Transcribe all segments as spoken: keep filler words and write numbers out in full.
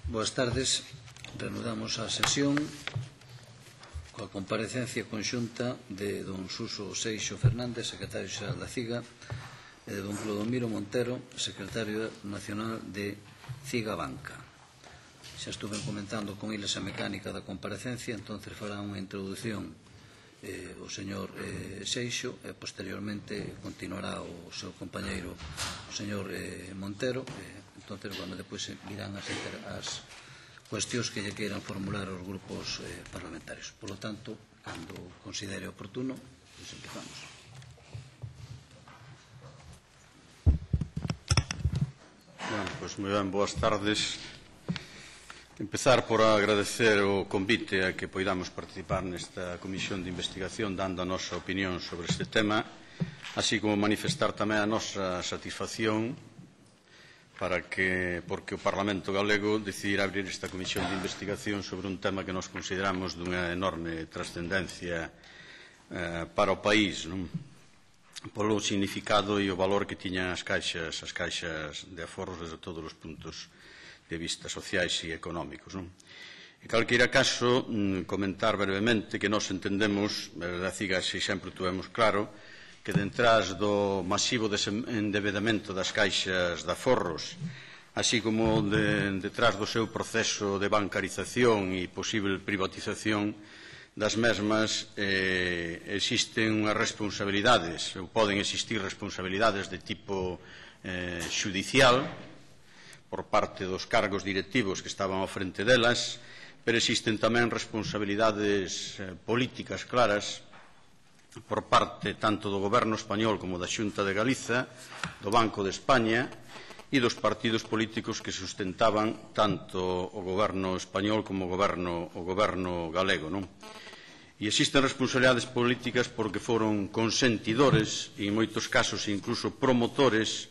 Boas tardes. Reanudamos a sesión coa comparecencia conxunta de don Suso Seixo Fernández, secretario xeral da CIGA, e de don Clodomiro Montero, secretario nacional de CIGA Banca. Xa estuve comentando con eles a mecánica da comparecencia, entonces fará unha introdución eh, o señor eh, Seixo e posteriormente continuará o seu compañeiro o señor eh, Montero. Eh, entonces, bueno, depois virán as, as cuestións que lle queiran formular os grupos eh, parlamentarios. Por lo tanto, cando considere oportuno, pues empezamos. Bueno, pues moi ben, boas tardes. Empezar por agradecer o convite a que poidamos participar nesta comisión de investigación dando a nosa opinión sobre este tema, así como manifestar tamén a nosa satisfacción para que, porque o Parlamento Galego decidirá abrir esta comisión de investigación sobre un tema que nos consideramos dunha enorme trascendencia eh, para o país, non? Polo significado e o valor que tiñan as caixas, as caixas de aforros desde todos os puntos de vista sociais e económicos, non? En calqueira caso, comentar brevemente que nós entendemos, a CIGA se sempre tuvemos claro, que detrás do masivo endebedamento das caixas de aforros, así como de, detrás do seu proceso de bancarización e posible privatización das mesmas, eh, existen unhas responsabilidades, ou poden existir responsabilidades de tipo eh, xudicial, por parte dos cargos directivos que estaban ao frente delas, pero existen tamén responsabilidades eh, políticas claras por parte tanto do Goberno español como da Xunta de Galiza, do Banco de España e dos partidos políticos que sustentaban tanto o Goberno español como o Goberno, o goberno galego, non? E existen responsabilidades políticas porque foron consentidores e en moitos casos incluso promotores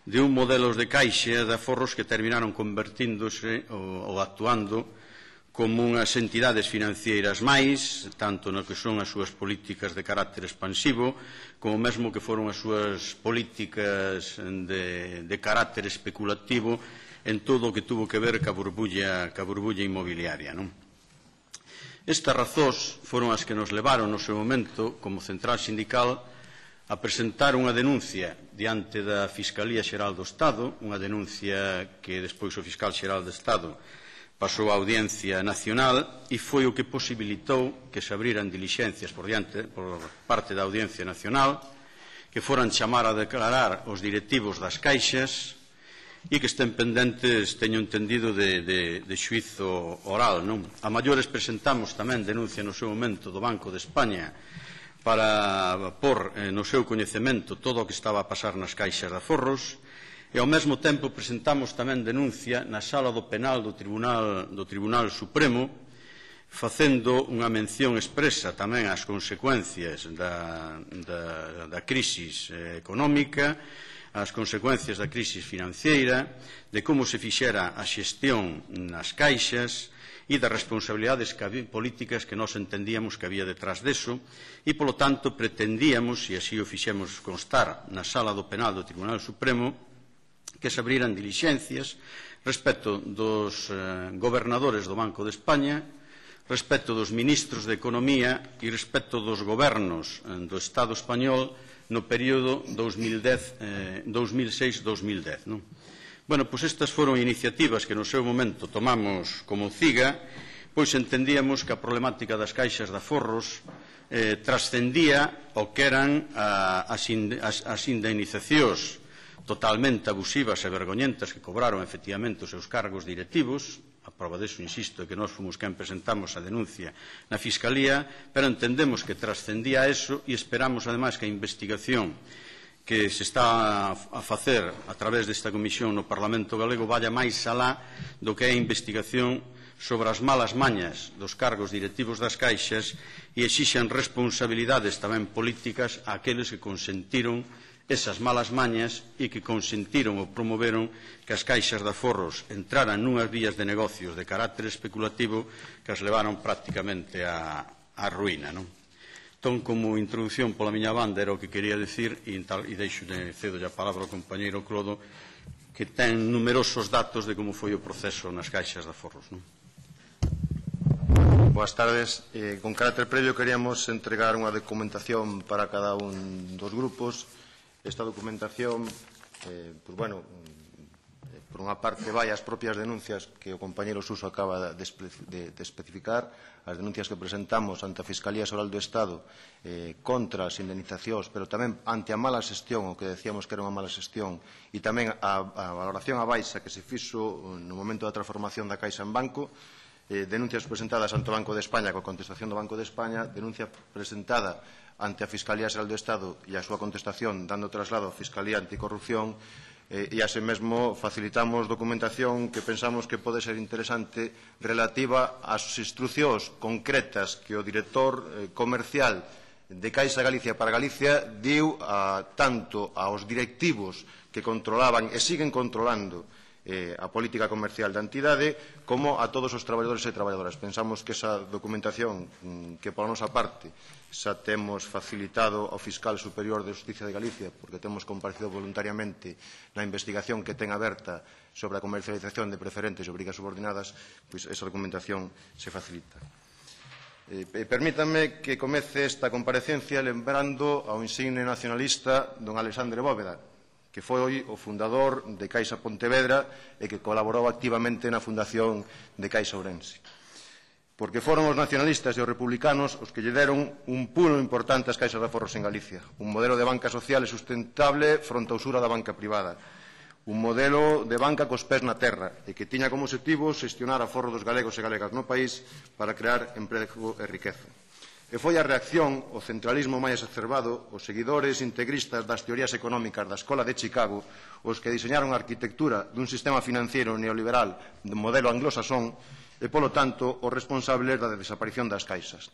de un modelo de caixa de aforros que terminaron convertíndose ou, ou actuando como unhas entidades financeiras máis, tanto no que son as súas políticas de carácter expansivo, como mesmo que foron as súas políticas de, de carácter especulativo en todo o que tuvo que ver ca burbulla, ca burbulla inmobiliaria, non? Estas razóns foron as que nos levaron no seu momento, como central sindical, a presentar unha denuncia diante da Fiscalía Xeral do Estado, unha denuncia que despois o Fiscal Xeral do Estado pasou á Audiencia Nacional e foi o que posibilitou que se abriran dilixencias por, diante, por parte da Audiencia Nacional, que foran chamar a declarar os directivos das caixas e que estén pendentes, teño entendido, de, de, de xuízo oral, non? A maiores presentamos tamén denuncia no seu momento do Banco de España para pôr eh, no seu coñecemento todo o que estaba a pasar nas caixas de aforros, e ao mesmo tempo presentamos tamén denuncia na sala do penal do Tribunal, do Tribunal Supremo, facendo unha mención expresa tamén ás consecuencias da, da, da crisis económica, ás consecuencias da crisis financiera, de como se fixera a xestión nas caixas e das responsabilidades políticas que nós entendíamos que había detrás deso e, polo tanto, pretendíamos, e así o fixemos constar na sala do penal do Tribunal Supremo, que se abriran dilixencias respecto dos eh, gobernadores do Banco de España, respecto dos ministros de Economía e respecto dos gobernos eh, do Estado español no período dos mil seis a dos mil dez. Non? Bueno, pois estas foron iniciativas que no seu momento tomamos como CIGA, pois entendíamos que a problemática das caixas de aforros eh, trascendía o que eran a, as, ind as, as indemnizacións totalmente abusivas e vergoñentas que cobraron efectivamente os seus cargos directivos. A prova deso, insisto, é que nós fomos quen presentamos a denuncia na Fiscalía, pero entendemos que trascendía eso e esperamos, ademais, que a investigación que se está a facer a través desta comisión no Parlamento Galego vaya máis alá do que é a investigación sobre as malas mañas dos cargos directivos das caixas e exixan responsabilidades tamén políticas àqueles que consentiron esas malas mañas e que consentiron ou promoveron que as caixas de aforros entraran nunhas vías de negocios de carácter especulativo que as levaron prácticamente á, á ruína, non? Entón, como introducción pola miña banda era o que quería decir e, tal, e deixo de cedo a palabra ao compañeiro Clodo, que ten numerosos datos de como foi o proceso nas caixas de aforros, non? Boas tardes. Eh, con carácter previo queríamos entregar unha documentación para cada un dos grupos. Esta documentación, eh, pues bueno, eh, por unha parte vai as propias denuncias que o compañeiro Suso acaba de, de, de especificar, as denuncias que presentamos ante a Fiscalía Xeral do Estado eh, contra as indemnizacións, pero tamén ante a mala xestión, o que decíamos que era unha mala xestión, e tamén a, a valoración a baixa que se fixo no momento da transformación da Caixa en banco, eh, denuncias presentadas ante o Banco de España coa contestación do Banco de España, denuncia presentada ante a Fiscalía Xeral do Estado e a súa contestación dando traslado á Fiscalía Anticorrupción, eh, e así mesmo facilitamos documentación que pensamos que pode ser interesante relativa ás instruccións concretas que o director eh, comercial de Caixa Galicia para Galicia diu a, tanto aos directivos que controlaban e siguen controlando eh, a política comercial da entidade como a todos os traballadores e traballadoras. Pensamos que esa documentación que pola nosa parte xa temos facilitado ao Fiscal Superior de Justicia de Galicia, porque temos comparecido voluntariamente na investigación que ten aberta sobre a comercialización de preferentes e obrigas subordinadas, pois esa documentación se facilita. Eh, permítanme que comece esta comparecencia lembrando ao insigne nacionalista don Alexandre Bóveda, que foi o fundador de Caixa Pontevedra e que colaborou activamente na fundación de Caixa Ourense. Porque foron os nacionalistas e os republicanos os que lle deron un pulo importante ás caixas de aforros en Galicia, un modelo de banca social e sustentable fronte á usura da banca privada, un modelo de banca cos pés na terra e que tiña como objetivo xestionar aforro dos galegos e galegas no país para crear emprego e riqueza. E foi a reacción ao centralismo máis exacerbado, os seguidores integristas das teorías económicas da Escola de Chicago, os que diseñaron a arquitectura dun sistema financiero neoliberal de modelo anglosasón e, polo tanto, os responsables da desaparición das caixas.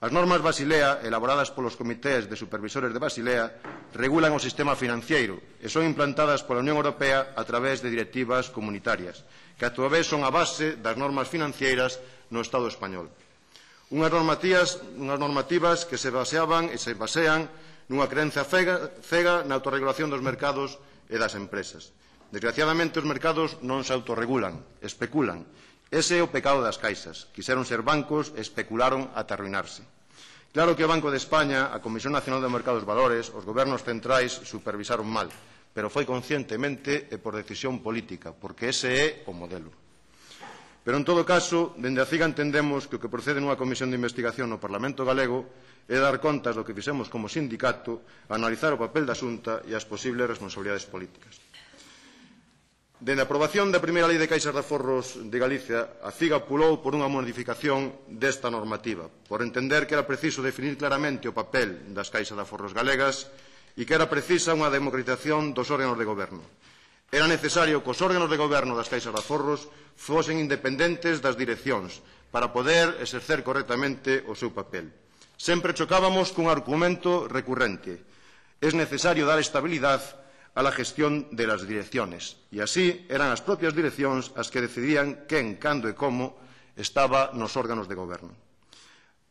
As normas Basilea, elaboradas polos comités de supervisores de Basilea, regulan o sistema financiero e son implantadas pola Unión Europea a través de directivas comunitarias, que a súa vez son a base das normas financeiras no Estado español. Unhas normativas, unhas normativas que se baseaban e se basean nunha creencia cega, cega na autorregulación dos mercados e das empresas. Desgraciadamente, os mercados non se autorregulan, especulan. Ese é o pecado das caixas. Quixeron ser bancos e especularon ata arruinarse. Claro que o Banco de España, a Comisión Nacional do Mercado dos Valores, os gobernos centrais supervisaron mal, pero foi conscientemente e por decisión política, porque ese é o modelo. Pero, en todo caso, dende a CIGA entendemos que o que procede nunha comisión de investigación no Parlamento galego é dar contas do que fixemos como sindicato, analizar o papel da Xunta e as posibles responsabilidades políticas. Dende a aprobación da primeira lei de caixas de aforros de Galicia, a CIGA pulou por unha modificación desta normativa, por entender que era preciso definir claramente o papel das caixas de aforros galegas e que era precisa unha democratización dos órganos de goberno. Era necesario que os órganos de goberno das caixas de aforros fosen independentes das direccións para poder exercer correctamente o seu papel. Sempre chocábamos cun argumento recurrente. Es necesario dar estabilidade a la gestión de las direcciones. E así eran as propias direccións as que decidían quen, cando e como estaba nos órganos de goberno.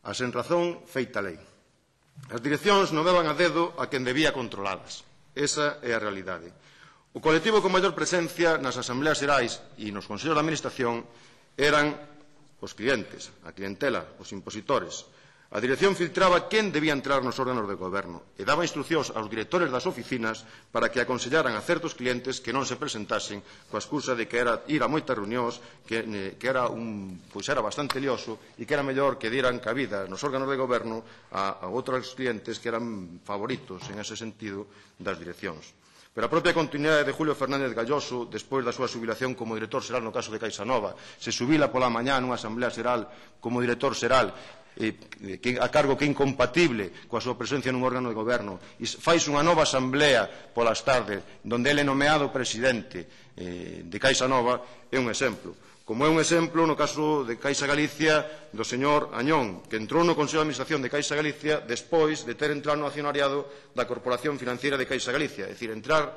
A sen razón, feita lei. As direccións non daban a dedo a quen debía controladas. Esa é a realidade. O colectivo con maior presencia nas asambleas xerais e nos consellos de administración eran os clientes, a clientela, os impositores. A dirección filtraba quen debía entrar nos órganos de goberno e daba instruccións aos directores das oficinas para que aconsellaran a certos clientes que non se presentasen coa excusa de que era ir a moitas reunións, que, que era, un, pois era bastante lioso e que era mellor que dieran cabida nos órganos de goberno a, a outros clientes que eran favoritos en ese sentido das direccións. Pero a propia continuidade de Julio Fernández Galloso, despois da súa xubilación como director xeral no caso de Caixa Nova, se xubila pola mañá nunha asamblea xeral como director xeral, eh, que, a cargo que é incompatible coa súa presencia nun órgano de goberno, e fais unha nova asamblea polas tardes, donde ele é nomeado presidente eh, de Caixa Nova, é un exemplo. Como é un exemplo no caso de Caixa Galicia do señor Añón, que entrou no Consello de Administración de Caixa Galicia despois de ter entrado no accionariado da Corporación Financiera de Caixa Galicia. É dicir, entrar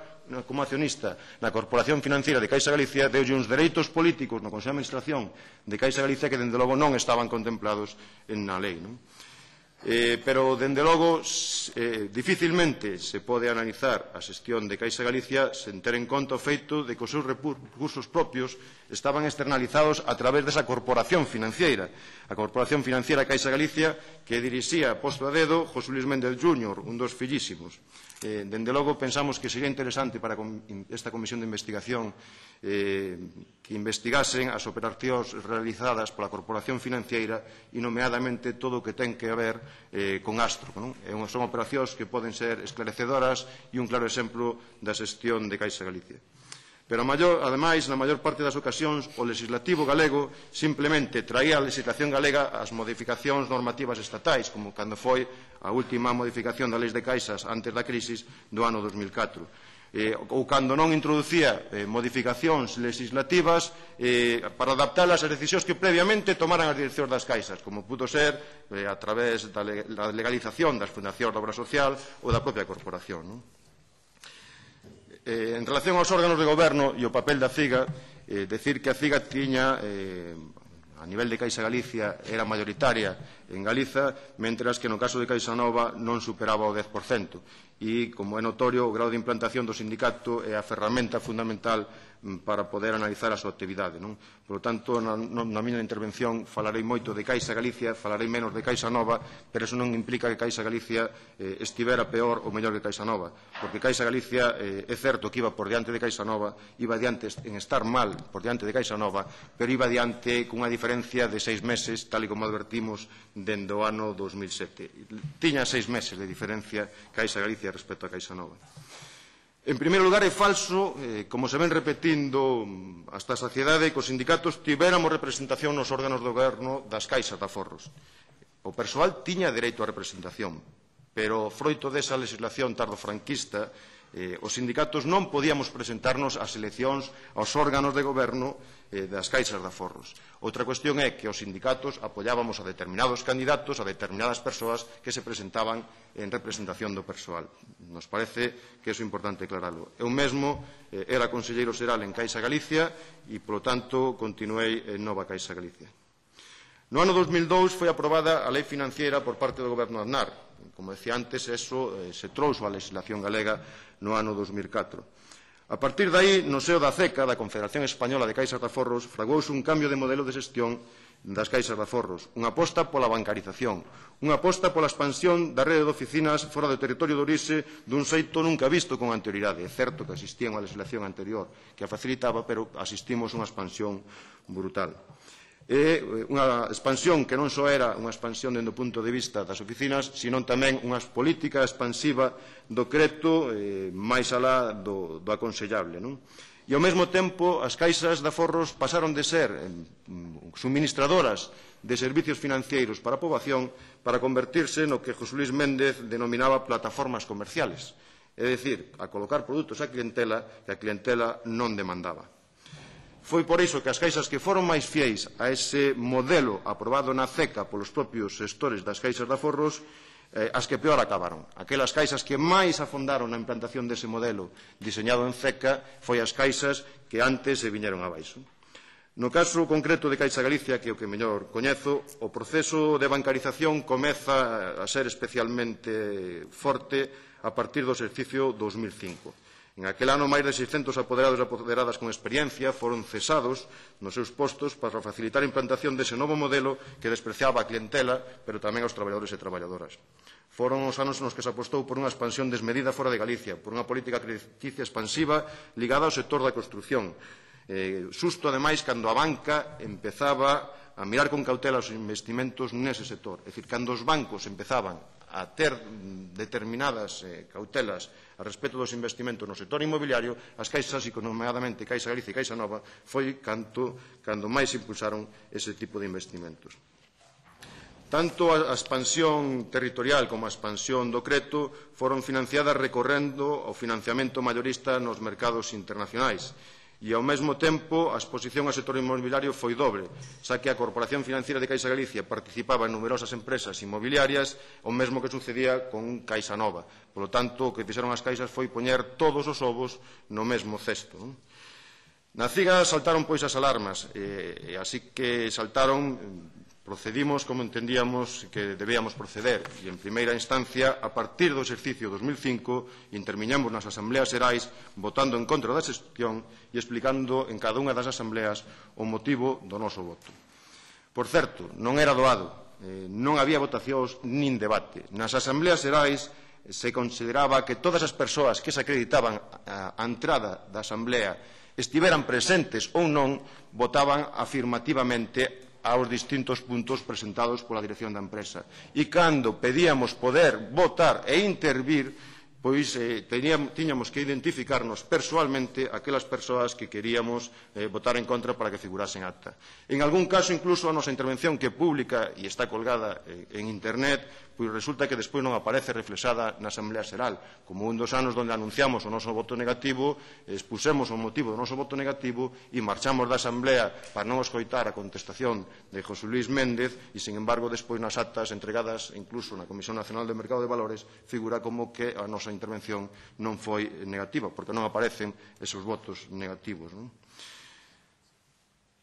como accionista na Corporación Financiera de Caixa Galicia deulle uns dereitos políticos no Consello de Administración de Caixa Galicia que, dende logo, non estaban contemplados na lei. Non? Eh, pero, dende logo, eh, dificilmente se pode analizar a xestión de Caixa Galicia sen ter en conta o feito de que os seus recursos propios estaban externalizados a través desa corporación financiera. A corporación financiera Caixa Galicia que dirixía posto a dedo José Luis Méndez júnior, un dos fillísimos. Eh, dende logo, pensamos que sería interesante para esta comisión de investigación eh, que investigasen as operacións realizadas pola corporación financiera e, nomeadamente, todo o que ten que ver eh, con Astro. Non? Son operacións que poden ser esclarecedoras e un claro exemplo da xestión de Caixa Galicia. Pero, ademais, na maior parte das ocasións, o legislativo galego simplemente traía a legislación galega as modificacións normativas estatais, como cando foi a última modificación da Lei de Caixas antes da crisis do ano dos mil catro. Eh, ou cando non introducía eh, modificacións legislativas eh, para adaptalas ás decisións que previamente tomaran as direccións das caixas, como pudo ser eh, a través da legalización das fundacións de obra social ou da propia corporación. Non? Eh, en relación aos órganos de goberno e o papel da CIGA, eh, decir que a CIGA tiña, eh, a nivel de Caixa Galicia, era mayoritaria en Galiza, mentras que no caso de Caixa Nova non superaba o dez por cento. E, como é notorio, o grau de implantación do sindicato é a ferramenta fundamental para poder analizar a súa actividade. Non? Por lo tanto, na, na miña intervención falarei moito de Caixa Galicia, falarei menos de Caixa Nova, pero eso non implica que Caixa Galicia eh, estivera peor ou mellor que Caixa Nova, porque Caixa Galicia eh, é certo que iba por diante de Caixa Nova, iba diante en estar mal por diante de Caixa Nova, pero iba diante cunha diferencia de seis meses, tal e como advertimos dende o ano dos mil sete. Tiña seis meses de diferencia Caixa Galicia respecto a Caixa Nova. En primeiro lugar, é falso, eh, como se ven repetindo hasta a saciedade, que os sindicatos tivéramos representación nos órganos do goberno das caixas de aforros. O persoal tiña dereito á representación, pero froito desa legislación tardofranquista, eh, os sindicatos non podíamos presentarnos ás eleccións aos órganos de goberno eh, das caixas de aforros. Outra cuestión é que os sindicatos apoiábamos a determinados candidatos, a determinadas persoas que se presentaban en representación do persoal. Nos parece que é importante aclararlo. Eu mesmo eh, era conselleiro xeral en Caixa Galicia e, polo tanto, continuei en Nova Caixa Galicia. No ano dos mil dous foi aprobada a Lei Financiera por parte do Goberno de Aznar. Como decía antes, eso eh, se trouxo a legislación galega no ano dos mil catro. A partir de aí, no seo da CECA, da Confederación Española de Caixas de Aforros, fraguouse un cambio de modelo de xestión das caixas de aforros, unha aposta pola bancarización, unha aposta pola expansión da rede de oficinas fora do territorio de orixe dun xeito nunca visto con anterioridade. É certo que existía unha legislación anterior que a facilitaba, pero asistimos a unha expansión brutal. É unha expansión que non só era unha expansión dende o punto de vista das oficinas, sino tamén unha política expansiva do creto eh, máis alá do, do aconsellable. Non? E, ao mesmo tempo, as caixas de aforros pasaron de ser eh, suministradoras de servicios financeiros para a poboación para convertirse no que José Luis Méndez denominaba plataformas comerciales, é dicir, a colocar produtos á clientela que a clientela non demandaba. Foi por iso que as caixas que foron máis fieis a ese modelo aprobado na CECA polos propios xestores das caixas de aforros, eh, as que peor acabaron. Aquelas caixas que máis afondaron na implantación dese modelo diseñado en CECA foi as caixas que antes se viñeron abaixo. No caso concreto de Caixa Galicia, que é o que mellor coñezo, o proceso de bancarización comeza a ser especialmente forte a partir do exercicio dos mil cinco. En aquel ano, máis de seiscentos apoderados e apoderadas con experiencia foron cesados nos seus postos para facilitar a implantación dese novo modelo que despreciaba a clientela, pero tamén aos traballadores e traballadoras. Foron os anos nos que se apostou por unha expansión desmedida fora de Galicia, por unha política crediticia expansiva ligada ao sector da construción. Eh, susto, ademais, cando a banca empezaba a mirar con cautela os investimentos nese sector. É dicir, cando os bancos empezaban a ter determinadas eh, cautelas a respecto dos investimentos no sector inmobiliario, as caixas, economicamente Caixa Galicia e Caixa Nova, foi canto, cando máis impulsaron ese tipo de investimentos. Tanto a expansión territorial como a expansión do creto foron financiadas recorrendo ao financiamento maiorista nos mercados internacionais. E, ao mesmo tempo, a exposición ao sector inmobiliario foi dobre, xa que a Corporación Financiera de Caixa Galicia participaba en numerosas empresas inmobiliarias, o mesmo que sucedía con Caixa Nova. Por lo tanto, o que fixeron as caixas foi poñer todos os ovos no mesmo cesto. Na CIGA saltaron pois as alarmas, e así que saltaron procedimos como entendíamos que debíamos proceder e, en primeira instancia, a partir do exercicio dos mil cinco, interviñamos nas asambleas xerais votando en contra da xestión e explicando en cada unha das asambleas o motivo do noso voto. Por certo, non era doado, eh, non había votacións nin debate. Nas asambleas xerais se consideraba que todas as persoas que se acreditaban a entrada da asamblea estiveran presentes ou non, votaban afirmativamente aos distintos puntos presentados pola dirección da empresa. E cando pedíamos poder votar e intervir, pois eh, teníamos, tiñamos que identificarnos persoalmente aquelas persoas que queríamos eh, votar en contra para que figurasen acta. En algún caso, incluso, a nosa intervención, que é pública e está colgada eh, en Internet, pois resulta que despois non aparece reflexada na Asamblea Xeral. Como un dos anos onde anunciamos o noso voto negativo, expusemos o motivo do noso voto negativo e marchamos da Asamblea para non escoitar a contestación de José Luis Méndez e, sin embargo, despois nas actas entregadas incluso na Comisión Nacional de Mercado de Valores figura como que a nosa intervención non foi negativa, porque non aparecen esos votos negativos, non?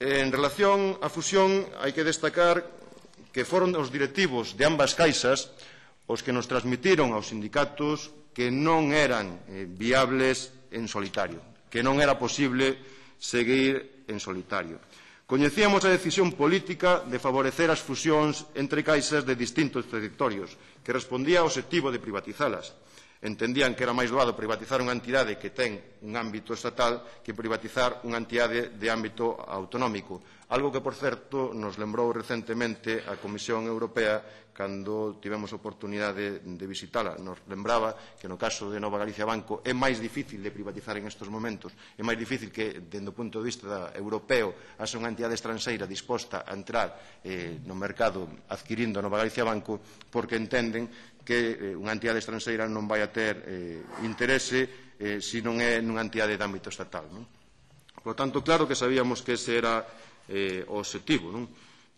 En relación á fusión, hai que destacar que foron os directivos de ambas caixas os que nos transmitiron aos sindicatos que non eran eh, viables en solitario, que non era posible seguir en solitario. Coñecíamos a decisión política de favorecer as fusións entre caixas de distintos territorios, que respondía ao obxectivo de privatizalas. Entendían que era máis doado privatizar unha entidade que ten un ámbito estatal que privatizar unha entidade de ámbito autonómico. Algo que, por certo, nos lembrou recentemente a Comisión Europea cando tivemos oportunidade de visitala. Nos lembraba que no caso de Nova Galicia Banco é máis difícil de privatizar en estes momentos. É máis difícil que, dende o punto de vista europeo, haxa unha entidade estranxeira disposta a entrar eh, no mercado adquirindo a Nova Galicia Banco porque entenden que eh, unha entidade estranxeira non vai a ter eh, interese eh, se non é nunha entidade de ámbito estatal, non? Por lo tanto, claro que sabíamos que ese era eh, o obxectivo, non?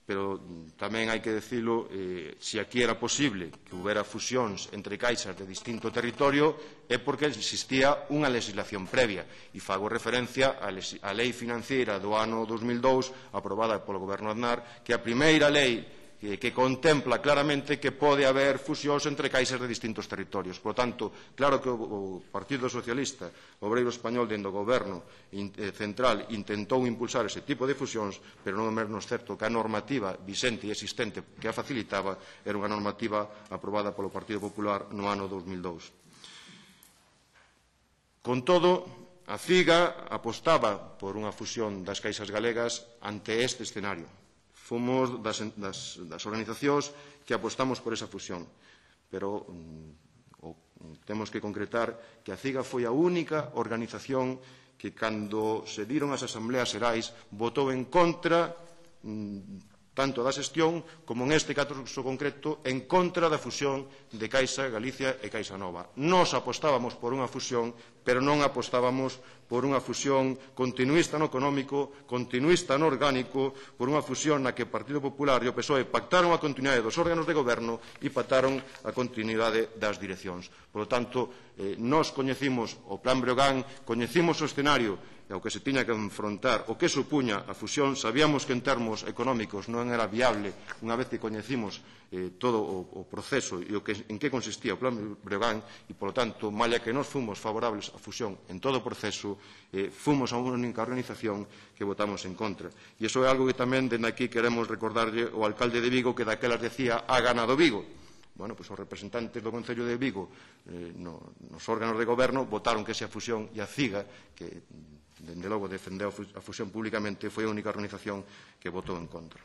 Pero tamén hai que dicilo, eh, se aquí era posible que houbera fusións entre caixas de distinto territorio é porque existía unha legislación previa e fago referencia á Lei Financiera do ano dos mil dous aprobada polo Goberno Aznar, que é a primeira lei que, que contempla claramente que pode haber fusións entre caixas de distintos territorios. Por tanto, claro que o, o Partido Socialista Obreiro Español dentro do Goberno in, eh, central intentou impulsar ese tipo de fusións, pero non é menos certo que a normativa visente e existente que a facilitaba era unha normativa aprobada polo Partido Popular no ano dos mil dous. Con todo, a CIGA apostaba por unha fusión das caixas galegas ante este escenario. Fomos das, das, das organizacións que apostamos por esa fusión, pero mm, o, temos que concretar que a CIGA foi a única organización que, cando se diron as asambleas xerais, votou en contra mm, tanto da xestión como, en este caso concreto, en contra da fusión de Caixa Galicia e Caixa Nova. Nos apostábamos por unha fusión, pero non apostábamos por unha fusión continuista no económico, continuista no orgánico, por unha fusión na que o Partido Popular e o P S O E pactaron a continuidade dos órganos de goberno e pactaron a continuidade das direccións. Por lo tanto, eh, nos coñecimos o Plan Breogán, coñecimos o escenario e ao que se tiña que enfrontar o que supuña a fusión. Sabíamos que en termos económicos non era viable unha vez que coñecimos eh, todo o, o proceso e o que, en que consistía o Plan Breogán e, polo tanto, malla que nos fomos favorables á fusión en todo o proceso, eh, fomos a unha única organización que votamos en contra. E iso é algo que tamén dende aquí queremos recordarlle ao alcalde de Vigo, que daquelas decía ha ganado Vigo. Bueno, pois os representantes do Concello de Vigo eh, no, nos órganos de goberno votaron que esa fusión e a CIGA, que dende logo defendeu a fusión públicamente, foi a única organización que votou en contra.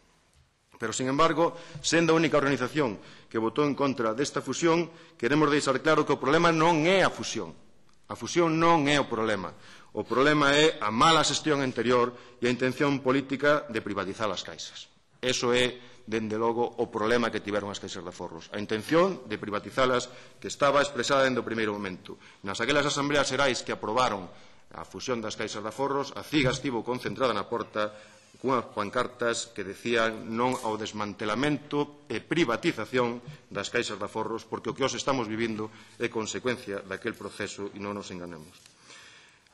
Pero, sin embargo, sendo a única organización que votou en contra desta fusión, queremos deixar claro que o problema non é a fusión. A fusión non é o problema. O problema é a mala xestión anterior e a intención política de privatizar as caixas. Eso é, dende logo, o problema que tiveron as caixas de aforros. A intención de privatizalas que estaba expresada dende o primeiro momento. Nas aquelas asambleas xerais que aprobaron a fusión das caixas de aforros, a CIGA estivo concentrada na porta cunhas pancartas que decían non ao desmantelamento e privatización das caixas de aforros, porque o que hoxe estamos vivindo é consecuencia daquel proceso e non nos enganemos.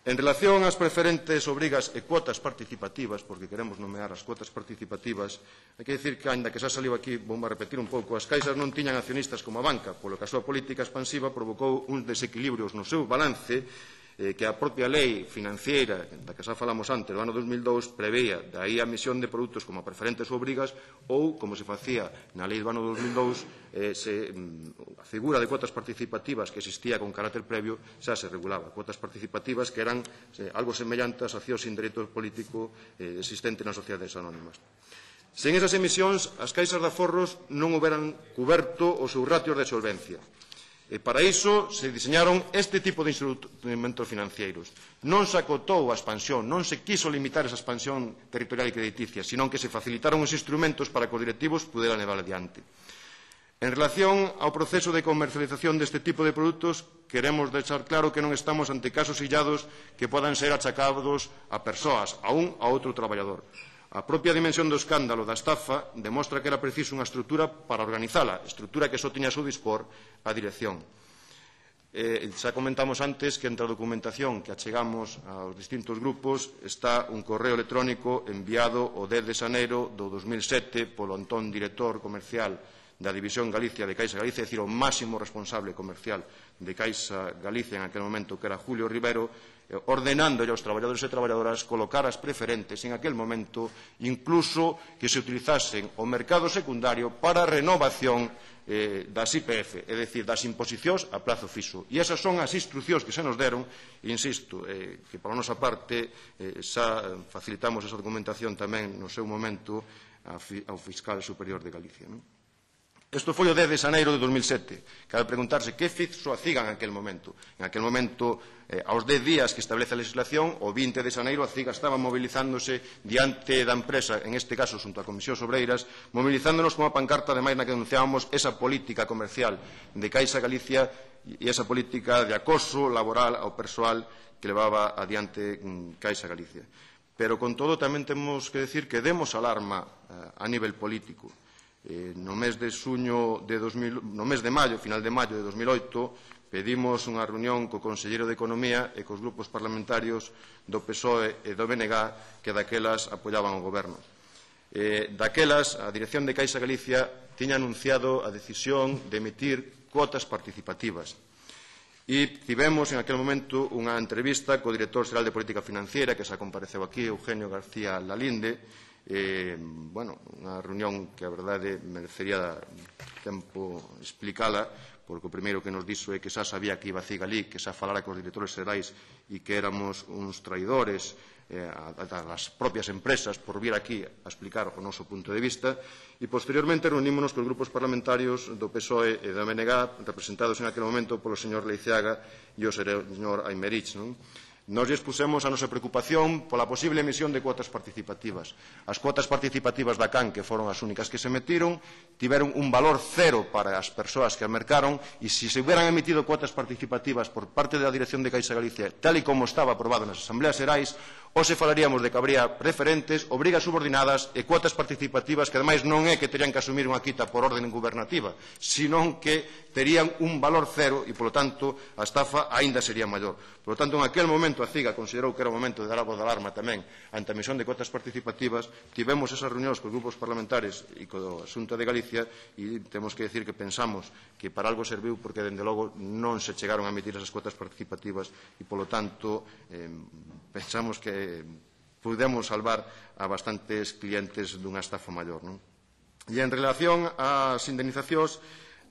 En relación ás preferentes obrigas e cuotas participativas, porque queremos nomear as cuotas participativas, hai que dicir que, ainda que xa saliu aquí, vou a repetir un pouco, as caixas non tiñan accionistas como a banca, polo que a súa política expansiva provocou uns desequilibrios no seu balance eh, que a propia lei financiera, da que xa falamos antes, do ano dos mil dous, preveía daí a emisión de produtos como preferentes ou obrigas ou, como se facía na lei do ano dos mil dous, eh, se, a figura de cuotas participativas que existía con carácter previo xa se regulaba. Cuotas participativas que eran eh, algo semellantes a accións sin dereito político eh, existente nas sociedades anónimas. Sen esas emisións, as caixas de aforros non houberan cuberto os seus ratios de solvencia. E para iso se diseñaron este tipo de instrumentos financeiros. Non se acotou a expansión, non se quiso limitar esa expansión territorial e crediticia, sino que se facilitaron os instrumentos para que os directivos puderan levar adiante. En relación ao proceso de comercialización deste tipo de produtos, queremos deixar claro que non estamos ante casos illados que podan ser achacados a persoas, a un a outro traballador. A propia dimensión do escándalo da estafa demostra que era preciso unha estrutura para organizala, estrutura que só tiña a seu dispor a dirección. Eh, xa comentamos antes que entre a documentación que achegamos aos distintos grupos está un correo electrónico enviado o dez de xaneiro do dos mil sete polo entón director comercial da División Galicia de Caixa Galicia, é dicir, o máximo responsable comercial de Caixa Galicia en aquel momento, que era Julio Rivero, ordenándolle aos traballadores e traballadoras colocar as preferentes en aquel momento, incluso que se utilizasen o mercado secundario para a renovación eh, das I P F, é dicir, das imposicións a plazo fixo. E esas son as instruccións que se nos deron, e insisto, eh, que para a nosa parte eh, xa facilitamos esa documentación tamén no seu momento ao Fiscal Superior de Galicia, non? Isto foi o dez de xaneiro de dos mil sete. Cabe preguntarse que fixo a CIGA en aquel momento. En aquel momento, eh, aos dez días que establece a legislación, o vinte de xaneiro, a CIGA estaba movilizándose diante da empresa, en este caso, xunto a Comisións Obreiras, movilizándonos con a pancarta, ademais, na que denunciábamos esa política comercial de Caixa Galicia e esa política de acoso laboral ao persoal que levaba adiante Caixa Galicia. Pero, con todo, tamén temos que decir que demos alarma eh, a nivel político. Eh, no mes de xuño de dos mil, no mes de maio, final de maio de dos mil oito, pedimos unha reunión co Conselleiro de Economía e cos grupos parlamentarios do P S O E e do B N G que daquelas apoiaban o goberno. Eh, daquelas, a Dirección de Caixa Galicia tiña anunciado a decisión de emitir cuotas participativas. E tivemos en aquel momento unha entrevista co Director Xeral de Política Financiera, que xa compareceu aquí, Eugenio García Lalinde. Eh, bueno, unha reunión que a verdade merecería tempo explicala, porque o primeiro que nos dixo é que xa sabía que iba a Cigalí, que xa falara cos directores xerais e que éramos uns traidores eh, das propias empresas por vir aquí a explicar o noso punto de vista, e posteriormente reunímonos cos grupos parlamentarios do P S O E e da M N G, representados en aquel momento polo señor Leiceaga e o señor Aymerich, non? Nos expusemos a nosa preocupación pola posible emisión de cuotas participativas. As cuotas participativas da C A N, que foron as únicas que se metiron, tiveron un valor cero para as persoas que as mercaron, e se se hubieran emitido cuotas participativas por parte da Dirección de Caixa Galicia, tal e como estaba aprobado nas asambleas xerais, ou se falaríamos de que habría preferentes, obrigas subordinadas e cuotas participativas que, ademais, non é que terían que asumir unha quita por orden gubernativa, senón que terían un valor cero e, polo tanto, a estafa aínda sería maior. Por lo tanto, en aquel momento a CIGA considerou que era o momento de dar a voz de alarma tamén ante a emisión de cuotas participativas. Tivemos esas reunións cos grupos parlamentares e co Xunta de Galicia e temos que decir que pensamos que para algo serviu, porque, dende logo, non se chegaron a emitir esas cuotas participativas e, polo tanto, eh, pensamos que pudemos salvar a bastantes clientes dunha estafa maior, non? E en relación ás indemnizacións,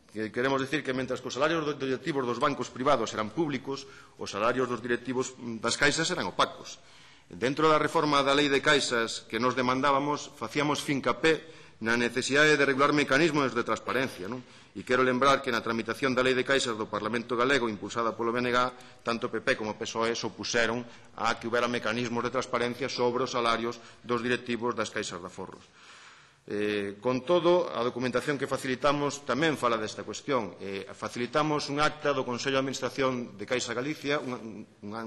que queremos decir que, mentre que os salarios dos directivos dos bancos privados eran públicos, os salarios dos directivos das caixas eran opacos. Dentro da reforma da lei de caixas que nos demandábamos, facíamos fincapé na necesidade de regular mecanismos de transparencia, non? E quero lembrar que na tramitación da lei de caixas do Parlamento Galego, impulsada polo B N G, tanto P P como P S O E se opuseron a que houbera mecanismos de transparencia sobre os salarios dos directivos das caixas de aforros. Eh, con todo, a documentación que facilitamos tamén fala desta cuestión. Eh, facilitamos un acta do Consello de Administración de Caixa Galicia, un, un, un,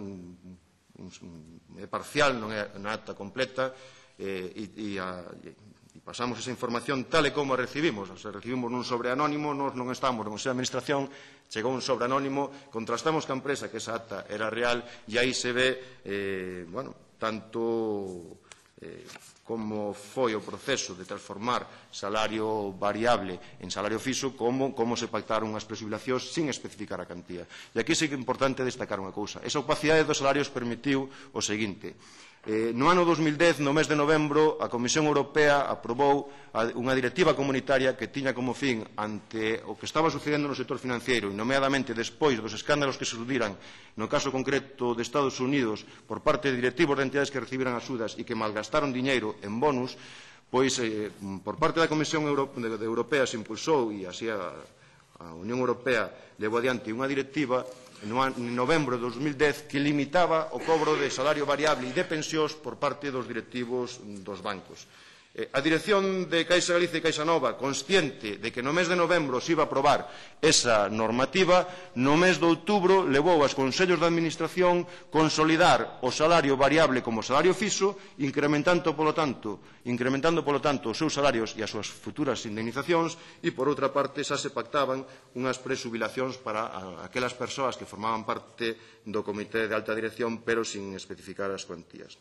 un, é parcial, non é unha acta completa, eh, e, e, a, e pasamos esa información tal e como a recibimos. Se recibimos nun sobre anónimo, nós non estamos no Consello de Administración, chegou un sobre anónimo, contrastamos ca empresa que esa acta era real e aí se ve, eh, bueno, tanto eh, como foi o proceso de transformar salario variable en salario fixo, como, como se pactaron as prexubilacións sin especificar a cantía. E aquí sí que é importante destacar unha cousa. Esa opacidade dos salarios permitiu o seguinte. Eh, no ano dos mil dez, no mes de novembro, a Comisión Europea aprobou unha directiva comunitaria que tiña como fin, ante o que estaba sucedendo no sector financiero, e nomeadamente despois dos escándalos que se sudiran no caso concreto de Estados Unidos por parte de directivos de entidades que recibiran axudas e que malgastaron diñeiro en bonus, pois eh, por parte da Comisión Euro de, de Europea se impulsou, e así a, a Unión Europea levou adiante unha directiva en novembro de dos mil dez que limitaba o cobro de salario variable e de pensións por parte dos directivos dos bancos. A dirección de Caixa Galicia e Caixa Nova, consciente de que no mes de novembro se iba a aprobar esa normativa, no mes de outubro levou aos consellos de administración consolidar o salario variable como salario fixo, incrementando, polo tanto, incrementando, polo tanto, os seus salarios e as súas futuras indemnizacións, e, por outra parte, xa se pactaban unhas presubilacións para aquelas persoas que formaban parte do comité de alta dirección, pero sin especificar as cuantías.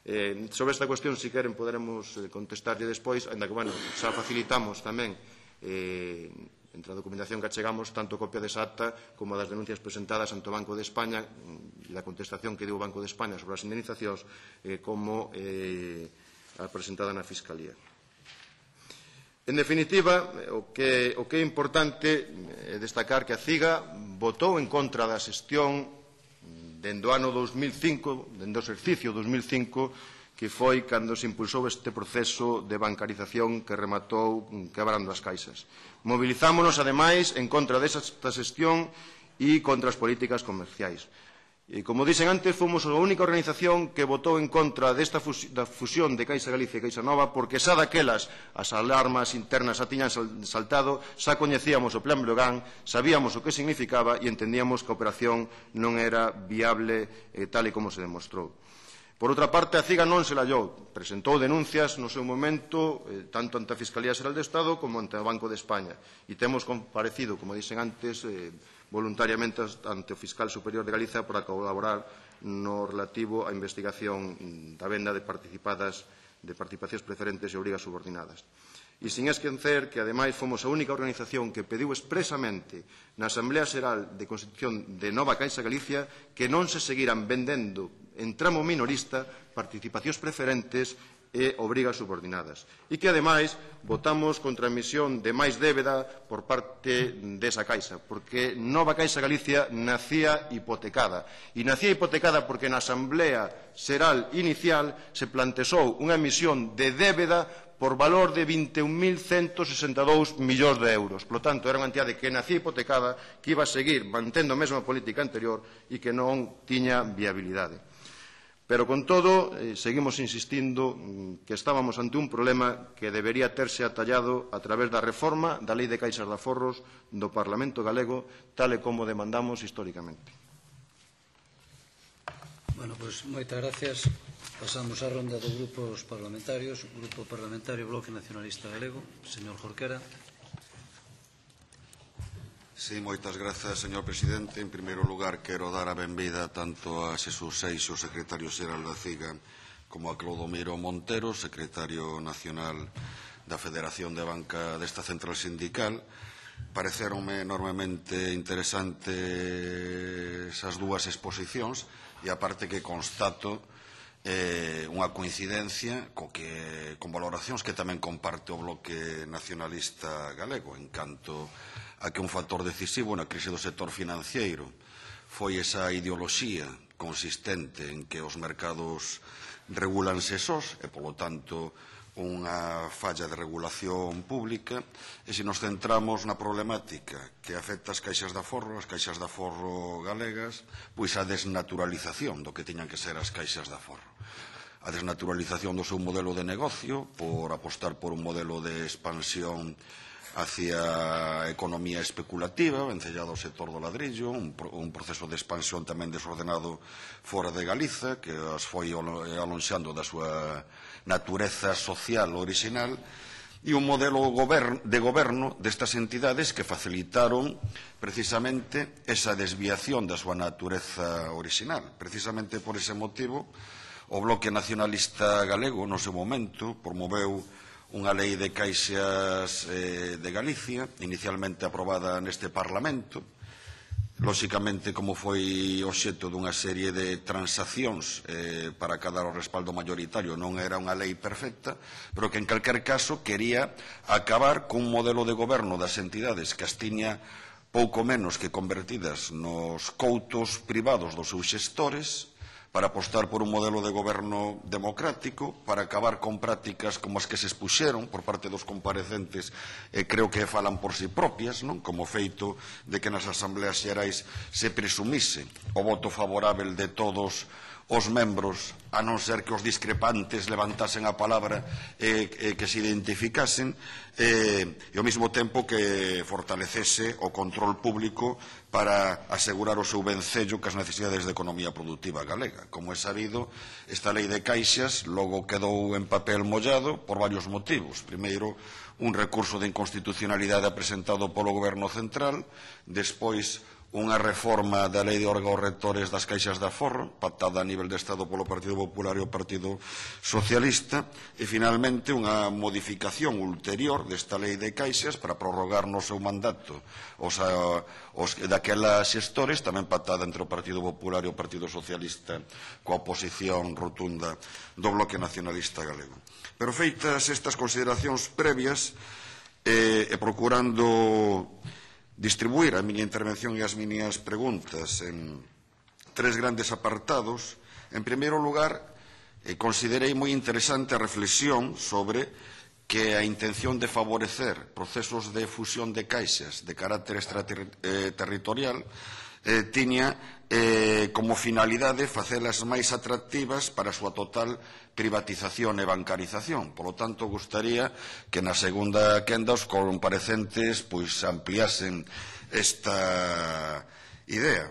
Eh, sobre esta cuestión, si queren, poderemos eh, contestarlle despois, ainda que, bueno, xa facilitamos tamén eh, entre a documentación que achegamos tanto copia desa acta como das denuncias presentadas ante o Banco de España e da contestación que deu o Banco de España sobre as indemnizacións eh, como eh, a presentada na Fiscalía. En definitiva, o que, o que é importante é destacar que a CIGA votou en contra da xestión dende o ano dos mil cinco, dende o exercicio dos mil cinco, que foi cando se impulsou este proceso de bancarización que rematou quebrando as caixas. Mobilizámonos, ademais, en contra desta xestión e contra as políticas comerciais. E, como dixen antes, fomos a única organización que votou en contra desta fusión de Caixa Galicia e Caixa Nova, porque xa daquelas as alarmas internas xa tiñan saltado, xa coñecíamos o Plan Breogán, sabíamos o que significaba e entendíamos que a operación non era viable eh, tal e como se demostrou. Por outra parte, a CIGA non se lallou, presentou denuncias no seu momento, eh, tanto ante a Fiscalía Xeral do Estado como ante o Banco de España. E temos comparecido, como dixen antes, eh, voluntariamente ante o Fiscal Superior de Galicia para colaborar no relativo á investigación da venda de participadas de participacións preferentes e obrigas subordinadas. E sin esquecer que, ademais, fomos a única organización que pediu expresamente na Asamblea Xeral de Constitución de Nova Caixa Galicia que non se seguiran vendendo en tramo minorista participacións preferentes e obrigas subordinadas. E que, ademais, votamos contra a emisión de máis débeda por parte desa Caixa, porque Nova Caixa Galicia nacía hipotecada. E nacía hipotecada porque na Asamblea Xeral inicial se plantexou unha emisión de débeda por valor de vinte e un mil ciento sesenta e dous millóns de euros. Por lo tanto, era unha entidade que nacía hipotecada, que iba a seguir mantendo a mesma política anterior e que non tiña viabilidade. Pero, con todo, eh, seguimos insistindo que estábamos ante un problema que debería terse atallado a través da reforma da Lei de Caixas de Aforros do Parlamento Galego, tal e como demandamos históricamente. Bueno, pois, moitas gracias. Pasamos á ronda de grupos parlamentarios. Grupo Parlamentario Bloque Nacionalista Galego. Señor Jorquera. Sí, moitas grazas, señor presidente. En primeiro lugar, quero dar a benvida tanto a Xesús Seixo, secretario xeral da CIGA, como a Clodomiro Montero, secretario nacional da Federación de Banca desta central sindical. Pareceronme enormemente interesantes as dúas exposicións e aparte que constato eh, unha coincidencia co que, con valoracións que tamén comparte o Bloque Nacionalista Galego en canto a que un factor decisivo na crise do sector financiero foi esa ideoloxía consistente en que os mercados regulanse sós e, polo tanto, unha falla de regulación pública. E se nos centramos na problemática que afecta as caixas de aforro, as caixas de aforro galegas, pois a desnaturalización do que tiñan que ser as caixas de aforro. A desnaturalización do seu modelo de negocio por apostar por un modelo de expansión hacia a economía especulativa, vencellado ao sector do ladrillo, un, un proceso de expansión tamén desordenado fora de Galiza, que as foi alonxando da súa natureza social original, e un modelo de goberno destas entidades que facilitaron precisamente esa desviación da súa natureza original. Precisamente por ese motivo, o Bloque Nacionalista Galego, no seu momento, promoveu unha lei de caixas eh, de Galicia, inicialmente aprobada neste Parlamento, lóxicamente como foi obxecto dunha serie de transaccións eh, para cadar o respaldo mayoritario, non era unha lei perfecta, pero que en calquer caso quería acabar cun modelo de goberno das entidades que as tiña pouco menos que convertidas nos coutos privados dos seus xestores, para apostar por un modelo de goberno democrático, para acabar con prácticas como as que se expuxeron por parte dos comparecentes, e creo que falan por si propias, non? Como feito de que nas asambleas xerais se presumise o voto favorável de todos os membros, a non ser que os discrepantes levantasen a palabra e, e que se identificasen, e, e ao mesmo tempo que fortalecese o control público para asegurar o seu vencello cas necesidades de economía productiva galega. Como é sabido, esta lei de caixas logo quedou en papel mollado por varios motivos. Primeiro, un recurso de inconstitucionalidade presentado polo Goberno Central, despois unha reforma da lei de órgãos rectores das caixas de aforro, pactada a nivel de Estado polo Partido Popular e o Partido Socialista, e finalmente unha modificación ulterior desta lei de caixas para prorrogar no seu mandato os, os daquelas xestores, tamén pactada entre o Partido Popular e o Partido Socialista coa oposición rotunda do Bloque Nacionalista Galego. Pero feitas estas consideracións previas e, e procurando distribuir a miña intervención e as miñas preguntas en tres grandes apartados. En primeiro lugar, eh, considerei moi interesante a reflexión sobre que a intención de favorecer procesos de fusión de caixas de carácter extraterritorial eh, tiña eh, como finalidade facelas máis atractivas para a súa total privatización e bancarización. Por lo tanto, gustaría que na segunda quenda os comparecentes pois ampliasen esta idea.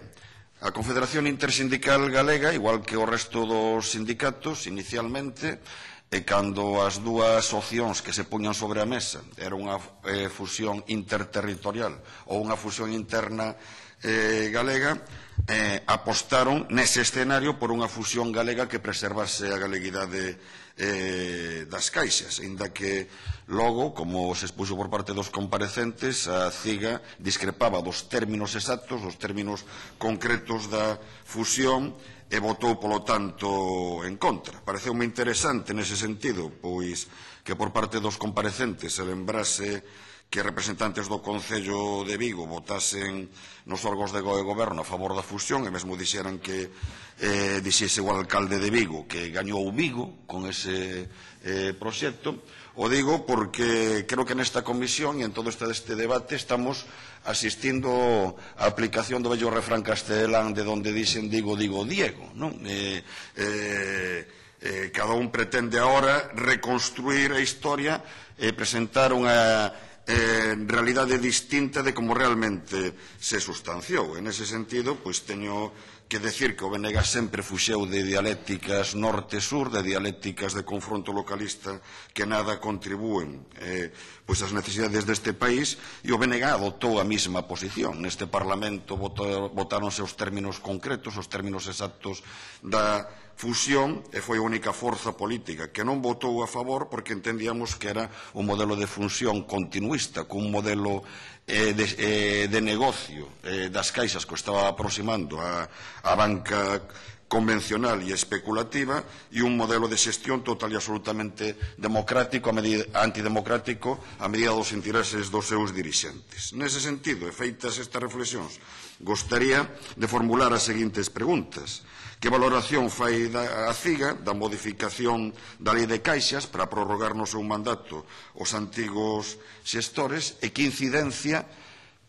A Confederación Intersindical Galega, igual que o resto dos sindicatos, inicialmente, e cando as dúas opcións que se puñan sobre a mesa era unha eh, fusión interterritorial ou unha fusión interna eh, galega, eh, apostaron nese escenario por unha fusión galega que preservase a galeguidade eh, das caixas, inda que logo, como se expuxo por parte dos comparecentes, a CIGA discrepaba dos términos exactos, dos términos concretos da fusión, e votou, polo tanto, en contra. Pareceume interesante nese sentido, pois que por parte dos comparecentes se lembrase que representantes do Concello de Vigo votasen nos órgãos de goberno a favor da fusión e mesmo dixeran que eh, dixese o alcalde de Vigo que gañou Vigo con ese eh, proxecto. O digo porque creo que nesta comisión e en todo este, este debate estamos asistindo á aplicación do vello refrán castelán de donde dixen digo, digo, Diego, non? Eh, eh, eh, cada un pretende agora reconstruir a historia e presentar unha Eh, realidade distinta de como realmente se sustanciou. En ese sentido, pois teño que decir que o B N G sempre fuxeu de dialécticas norte-sur, de dialécticas de confronto localista que nada contribúen eh, pois as necesidades deste país, e o B N G adoptou a mesma posición. Neste Parlamento votáronse os términos concretos, os términos exactos da fusión, e foi a única forza política que non votou a favor porque entendíamos que era un modelo de fusión continuista, cun modelo eh, de, eh, de negocio eh, das caixas que estaba aproximando a, a banca convencional e especulativa, e un modelo de xestión total e absolutamente democrático, a medida, antidemocrático, a medida dos intereses dos seus dirixentes. Nese sentido, e feitas estas reflexións, gostaría de formular as seguintes preguntas. Que valoración fai a CIGA da modificación da lei de caixas para prorrogar no seu mandato os antigos xestores, e que incidencia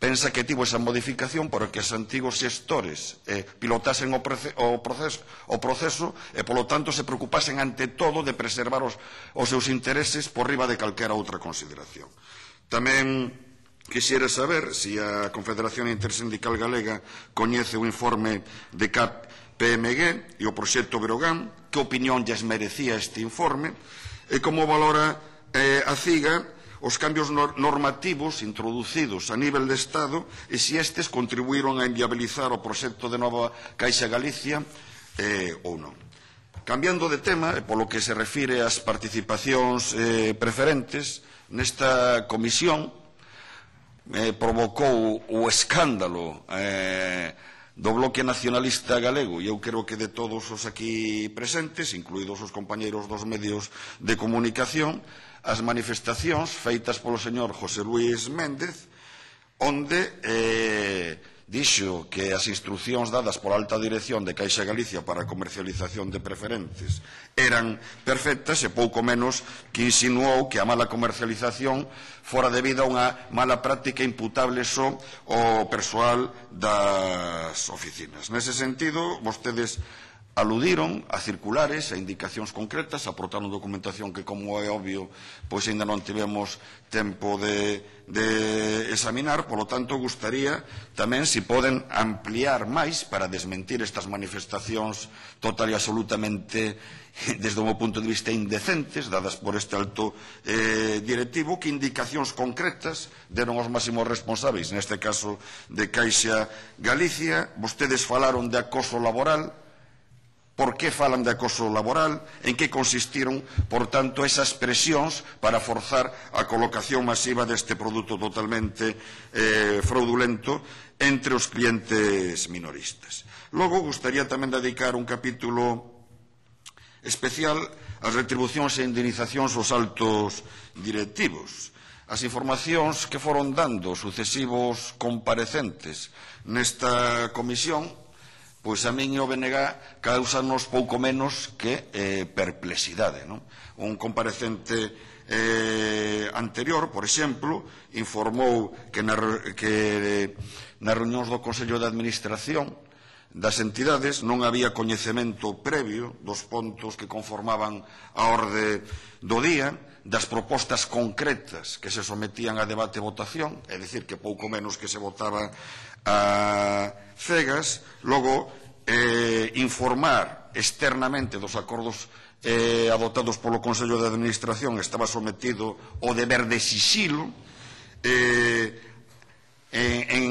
pensa que tivo esa modificación para que os antigos xestores eh, pilotasen o, o, proceso, o proceso e, polo tanto, se preocupasen ante todo de preservar os, os seus intereses por riba de calquera outra consideración. Tamén quixera saber se a Confederación Intersindical Galega coñece o informe de C A P P M G e o proxecto Breogán, que opinión lles merecía este informe, e como valora eh, a CIGA os cambios normativos introducidos a nivel de Estado e se estes contribuíron a inviabilizar o proxecto de Nova Caixa Galicia eh, ou non. Cambiando de tema, e polo que se refire ás participacións eh, preferentes, nesta comisión eh, provocou o escándalo eh, do Bloque Nacionalista Galego, e eu creo que de todos os aquí presentes, incluídos os compañeiros dos medios de comunicación, as manifestacións feitas polo señor José Luís Méndez, onde eh, dixo que as instruccións dadas pola alta dirección de Caixa Galicia para a comercialización de preferentes eran perfectas e pouco menos que insinuou que a mala comercialización fora debida a unha mala práctica imputable só ao persoal das oficinas. Nese sentido, vostedes aludiron a circulares, a indicacións concretas, aportaron documentación que, como é obvio, pois ainda non tivemos tempo de, de examinar, polo tanto, gustaría tamén se poden ampliar máis para desmentir estas manifestacións total e absolutamente, desde o meu punto de vista, indecentes, dadas por este alto eh, directivo, que indicacións concretas deron os máximos responsáveis, neste caso de Caixa Galicia. Vostedes falaron de acoso laboral. Por que falan de acoso laboral? En que consistiron, por tanto, esas presións para forzar a colocación masiva deste produto totalmente eh, fraudulento entre os clientes minoristas? Logo, gustaría tamén dedicar un capítulo especial ás retribucións e indemnizacións aos altos directivos. As informacións que foron dando sucesivos comparecentes nesta comisión, pois a min e o B N G causanos pouco menos que eh, perplexidade, non? Un comparecente eh, anterior, por exemplo, informou que, na, que nas reunións do Consello de Administración das entidades non había coñecemento previo dos pontos que conformaban a orde do día, das propostas concretas que se sometían a debate e votación, é dicir, que pouco menos que se votaba a cegas. Logo, eh, informar externamente dos acordos eh, adoptados polo Consello de Administración estaba sometido ao deber de sixilo. eh, en, en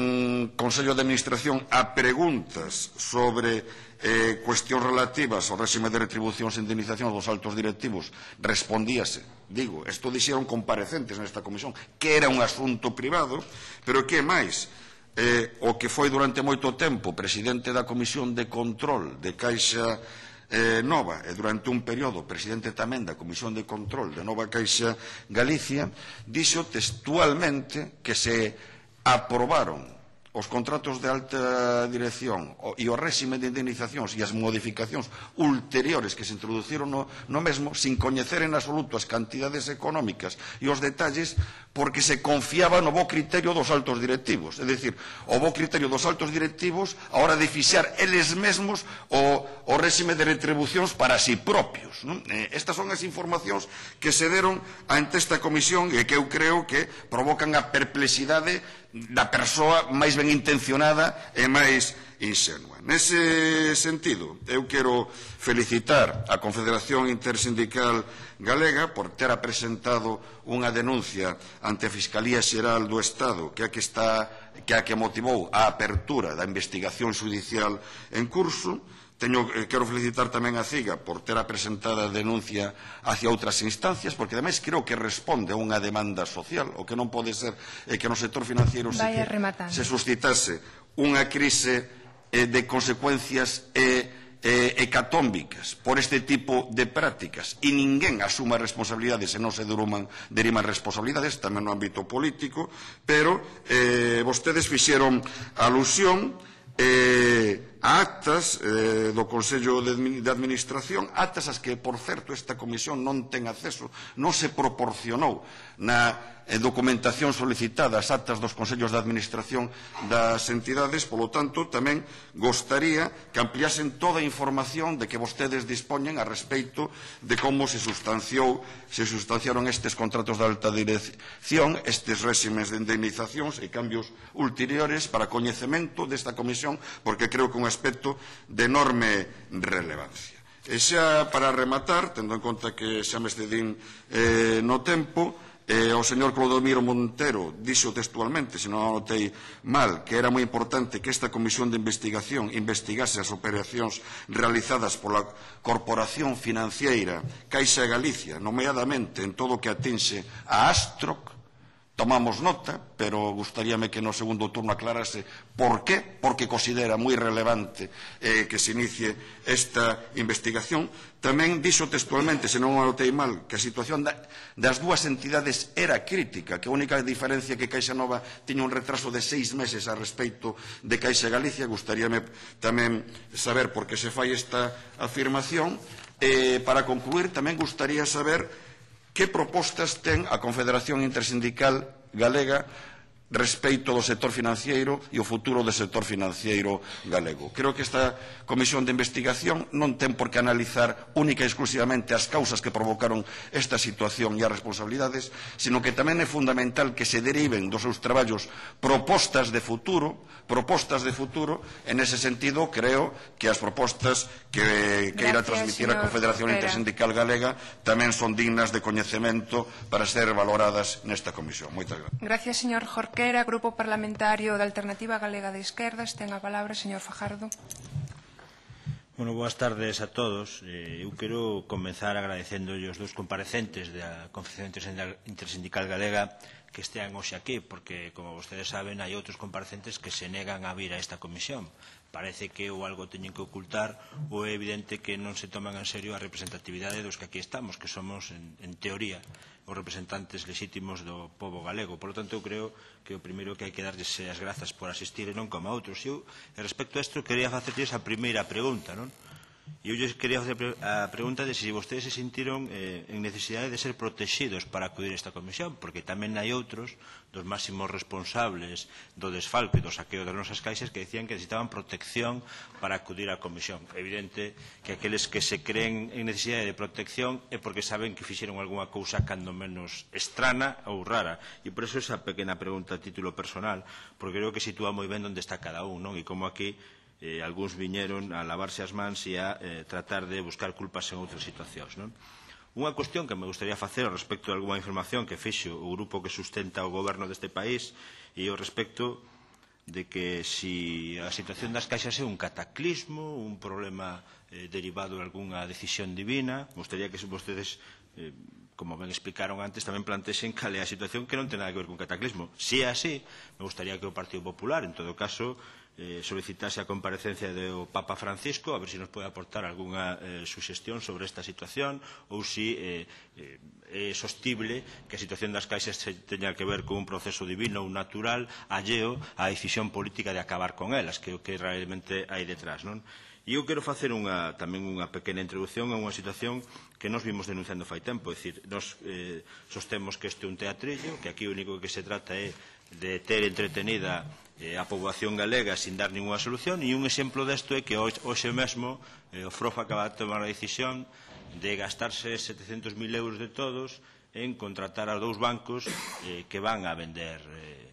Consello de Administración a preguntas sobre eh, cuestións relativas ao réxime de retribucións e indemnizacións dos altos directivos, respondíase, digo, isto dixeron comparecentes nesta comisión, que era un asunto privado, pero que máis? Eh, o que foi durante moito tempo presidente da Comisión de Control de Caixa eh, Nova e durante un período presidente tamén da Comisión de Control de Nova Caixa Galicia, dixo textualmente que se aprobaron os contratos de alta dirección e o réxime de indemnizacións e as modificacións ulteriores que se introduciron no, no mesmo sin coñecer en absoluto as cantidades económicas e os detalles, porque se confiaba no bo criterio dos altos directivos, é dicir, o bo criterio dos altos directivos a hora de fixar eles mesmos o, o réxime de retribucións para si propios, non? Eh, estas son as informacións que se deron ante esta comisión e que eu creo que provocan a perplexidade da persoa máis ben intencionada e máis inxenua. Nese sentido, eu quero felicitar a Confederación Intersindical Galega por ter apresentado unha denuncia ante a Fiscalía Xeral do Estado que a que, está, que, a que motivou a apertura da investigación judicial en curso. Teño, eh, quero felicitar tamén a CIGA por ter apresentada a denuncia hacia outras instancias, porque ademais creo que responde a unha demanda social. O que non pode ser é que no sector financiero se, que, se suscitase unha crise eh, de consecuencias eh, eh, hecatómbicas por este tipo de prácticas e ninguén asuma responsabilidades e non se deriman, deriman responsabilidades tamén no ámbito político, pero eh, vostedes fixeron alusión eh, a actas eh, do Consello de, de Administración, actas as que, por certo, esta comisión non ten acceso, non se proporcionou na documentación solicitada as actas dos Consellos de Administración das entidades, polo tanto, tamén gostaría que ampliasen toda a información de que vostedes dispoñen a respeito de como se sustanciou, se sustanciaron estes contratos de alta dirección, estes réximes de indemnizacións e cambios ulteriores para coñecemento desta comisión, porque creo que é un aspecto de enorme relevancia. E xa para rematar, tendo en conta que xa me excedín eh, no tempo, Eh, o señor Clodomiro Montero dixo textualmente, se non anotei mal, que era moi importante que esta comisión de investigación investigase as operacións realizadas pola Corporación Financiera Caixa Galicia, nomeadamente en todo o que atinxe a Astroc. Tomamos nota, pero gustaríame que no segundo turno aclarase por qué, porque considera moi relevante eh, que se inicie esta investigación. Tamén dixo textualmente, se non anotei mal, que a situación da, das dúas entidades era crítica, que a única diferencia que Caixa Nova tiña un retraso de seis meses a respecto de Caixa Galicia. Gustaríame tamén saber por que se fai esta afirmación. Eh, para concluir, tamén gustaría saber que propostas ten a Confederación Intersindical Galega respecto do sector financiero e o futuro do sector financiero galego. Creo que esta comisión de investigación non ten por que analizar única e exclusivamente as causas que provocaron esta situación e as responsabilidades, sino que tamén é fundamental que se deriven dos seus traballos propostas de futuro, propostas de futuro. En ese sentido, creo que as propostas que, que irá transmitir a Confederación Intersindical Galega tamén son dignas de coñecemento para ser valoradas nesta comisión. Moitas gracias. Gracias, señor Jorquera. Grupo Parlamentario da Alternativa Galega de Esquerdas, ten a palabra, señor Fajardo. Bueno, boas tardes a todos. Eh, eu quero comenzar agradecendo os dous comparecentes da Confederación Intersindical Galega que estean hoxe aquí, porque, como vostedes saben, hai outros comparecentes que se negan a vir a esta comisión. Parece que ou algo teñen que ocultar ou é evidente que non se toman en serio a representatividade dos que aquí estamos, que somos, en, en teoría, os representantes legítimos do pobo galego. Por lo tanto, eu creo que o primeiro que hai que darlles as grazas por asistir e non como a outros. Eu, respecto a isto, quería facerlles a primeira pregunta, non? E eu lles quería facer a pregunta de se vostedes se sentiron eh, en necesidade de ser protegidos para acudir a esta comisión, porque tamén hai outros dos máximos responsables do desfalco e do saqueo das nosas caixas que decían que necesitaban protección para acudir á comisión. É evidente que aqueles que se creen en necesidade de protección é porque saben que fixeron algunha cousa cando menos estrana ou rara. E por eso esa pequena pregunta a título personal, porque creo que sitúa moi ben onde está cada un, non? E como aquí Eh, algúns viñeron a lavarse as mans e a eh, tratar de buscar culpas en outras situacións, non? Unha cuestión que me gustaría facer ao respecto de alguma información que fixo o grupo que sustenta o goberno deste país e ao respecto de que si a situación das caixas é un cataclismo, un problema eh, derivado de algunha decisión divina. Me gustaría que vostedes, eh, como ben explicaron antes, tamén plantexen cal é a situación que non ten nada que ver con cataclismo. Si é así, me gustaría que o Partido Popular, en todo caso, Eh, solicitase a comparecencia do Papa Francisco, a ver se si nos pode aportar algunha eh, suxestión sobre esta situación, ou se si, eh, eh, é sostible que a situación das caixas teña que ver con un proceso divino ou natural alleo á decisión política de acabar con elas, que é o que realmente hai detrás, non? E eu quero facer unha, tamén unha pequena introducción a unha situación que nos vimos denunciando fai tempo. É dicir, nos eh, sostemos que este é un teatrillo, que aquí o único que se trata é de ter entretenida eh, a poboación galega sin dar ninguna solución, e un exemplo desto é que hoxe mesmo eh, o Frofa acaba de tomar a decisión de gastarse setecentos mil euros de todos en contratar a dous bancos eh, que van a vender eh,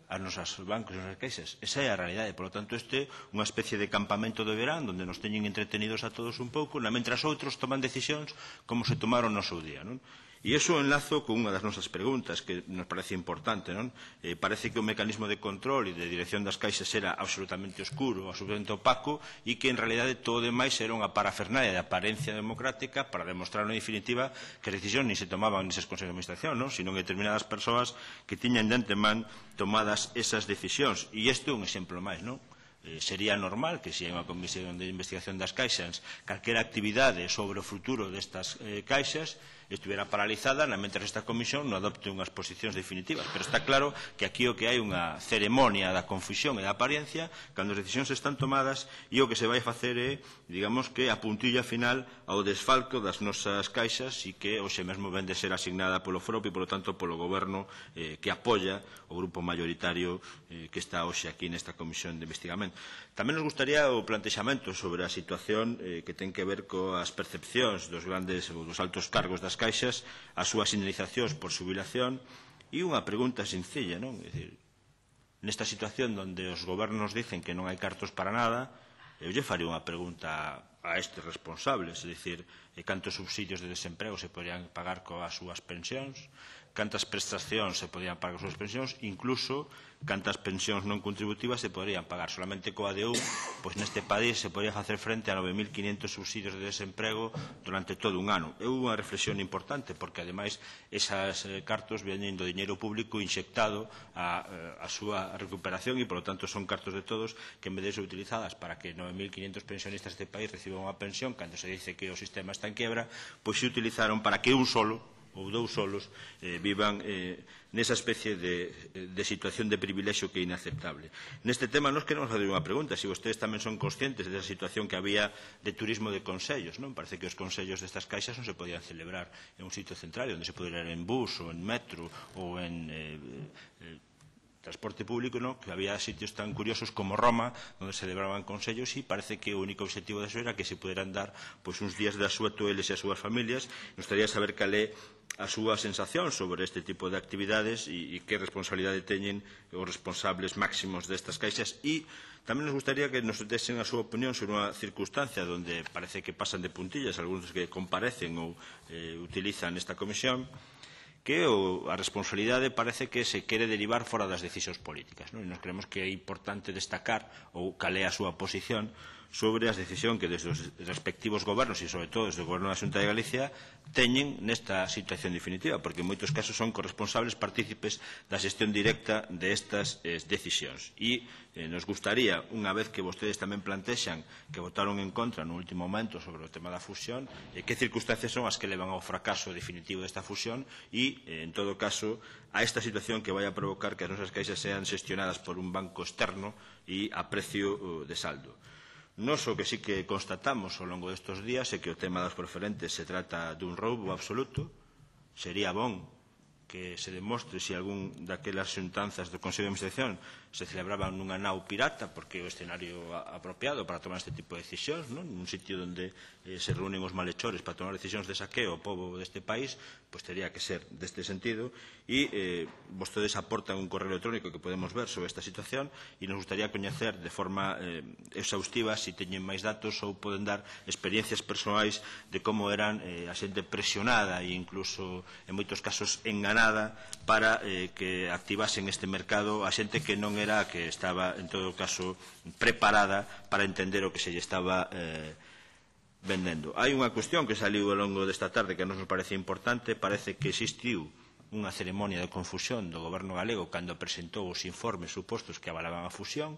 as nosas bancos e as nosas caixas. Esa é a realidade. Por lo tanto, este é unha especie de campamento de verán onde nos teñen entretenidos a todos un pouco, mentras outros toman decisións como se tomaron no seu día, non? E iso enlazo con unha das nosas preguntas que nos parece importante, non? Eh, parece que o mecanismo de control e de dirección das caixas era absolutamente oscuro, absolutamente opaco, e que en realidade todo demais era unha parafernalia de apariencia democrática para demostrar en definitiva que as decisións ni se tomaban neses consejos de administración, non? Sino que determinadas persoas que tiñan de antemán tomadas esas decisións. E isto é un exemplo máis, non? eh, sería normal que se hai unha comisión de investigación das caixas, calquera actividade sobre o futuro destas eh, caixas estuviera paralizada na mentre esta comisión non adopte unhas posicións definitivas. Pero está claro que aquí o que hai unha ceremonia da confusión e da apariencia cando as decisións están tomadas e o que se vai facer é, digamos, que a puntilla final ao desfalco das nosas caixas e que hoxe mesmo vende ser asignada polo Forope e, polo tanto, polo Goberno eh, que apoia o grupo mayoritario eh, que está hoxe aquí nesta comisión de investigamento. Tamén nos gustaría o plantexamento sobre a situación eh, que ten que ver coas percepcións dos grandes ou dos altos cargos das caixas, as súas indemnizacións por xubilación e unha pregunta sencilla, non? É dicir, nesta situación onde os gobernos dicen que non hai cartos para nada, eu lle farei unha pregunta a estes responsables, é dicir, cantos subsidios de desemprego se poderían pagar coas súas pensións, cantas prestacións se podían pagar coas súas pensións, incluso cantas pensións non contributivas se poderían pagar. Solamente coa D U, pois neste país se podría facer frente a nove mil quinhentos subsidios de desemprego durante todo un ano. É unha reflexión importante, porque ademais esas eh, cartos veñen do diñeiro público inxectado a, a súa recuperación e, polo tanto, son cartos de todos que, en vez de ser utilizadas para que nove mil quinhentos pensionistas deste país reciban unha pensión, cando se dice que o sistema está en quebra, pois se utilizaron para que un solo ou dous solos eh, vivan eh, nesa especie de, de situación de privilexio que é inaceptable. Neste tema nos queremos fazer unha pregunta, se vostedes tamén son conscientes desa situación que había de turismo de consellos, non? Parece que os consellos destas caixas non se podían celebrar en un sitio central, onde se podía ir en bus ou en metro ou en eh, eh, transporte público, ¿no? Que había sitios tan curiosos como Roma, onde se celebraban consellos e parece que o único objetivo de eso era que se puderan dar pois, uns días de asueto eles e as súas familias. Nos gustaría saber cal é a súa sensación sobre este tipo de actividades e, e que responsabilidade teñen os responsables máximos destas caixas e tamén nos gustaría que nos desen a súa opinión sobre unha circunstancia onde parece que pasan de puntillas algúns que comparecen ou eh, utilizan esta comisión, que o, a responsabilidade parece que se quere derivar fora das decisións políticas, non? E nos creemos que é importante destacar ou cal é a súa posición sobre a decisión que desde os respectivos gobernos e sobre todo desde o goberno da Xunta de Galicia teñen nesta situación definitiva, porque en moitos casos son corresponsables partícipes da xestión directa destas eh, decisións. E eh, nos gustaría, unha vez que vostedes tamén plantexan que votaron en contra no último momento sobre o tema da fusión, eh, que circunstancias son as que levan ao fracaso definitivo desta fusión e, eh, en todo caso, a esta situación que vai a provocar que as nosas caixas sean xestionadas por un banco externo e a precio uh, de saldo. Nos o que sí que constatamos ao longo destes días é que o tema das preferentes se trata dun roubo absoluto. Sería bon que se demostre se algún daquelas xuntanzas do Consello de Administración se celebraban nunha nau pirata, porque é o escenario apropiado para tomar este tipo de decisións, non? Nun sitio onde eh, se reúnen os malhechores para tomar decisións de saqueo ao pobo deste país, pois teria que ser deste sentido. E eh, vostedes aportan un correo electrónico que podemos ver sobre esta situación e nos gustaría coñecer de forma eh, exhaustiva se teñen máis datos ou poden dar experiencias persoais de como eran eh, a xente presionada e incluso en moitos casos enganada para eh, que activasen este mercado a xente que non era a que estaba, en todo caso, preparada para entender o que se lle estaba eh, vendendo. Hai unha cuestión que saliu ao longo desta tarde que a nos parece importante. Parece que existiu unha ceremonia de confusión do goberno galego cando presentou os informes supostos que avalaban a fusión.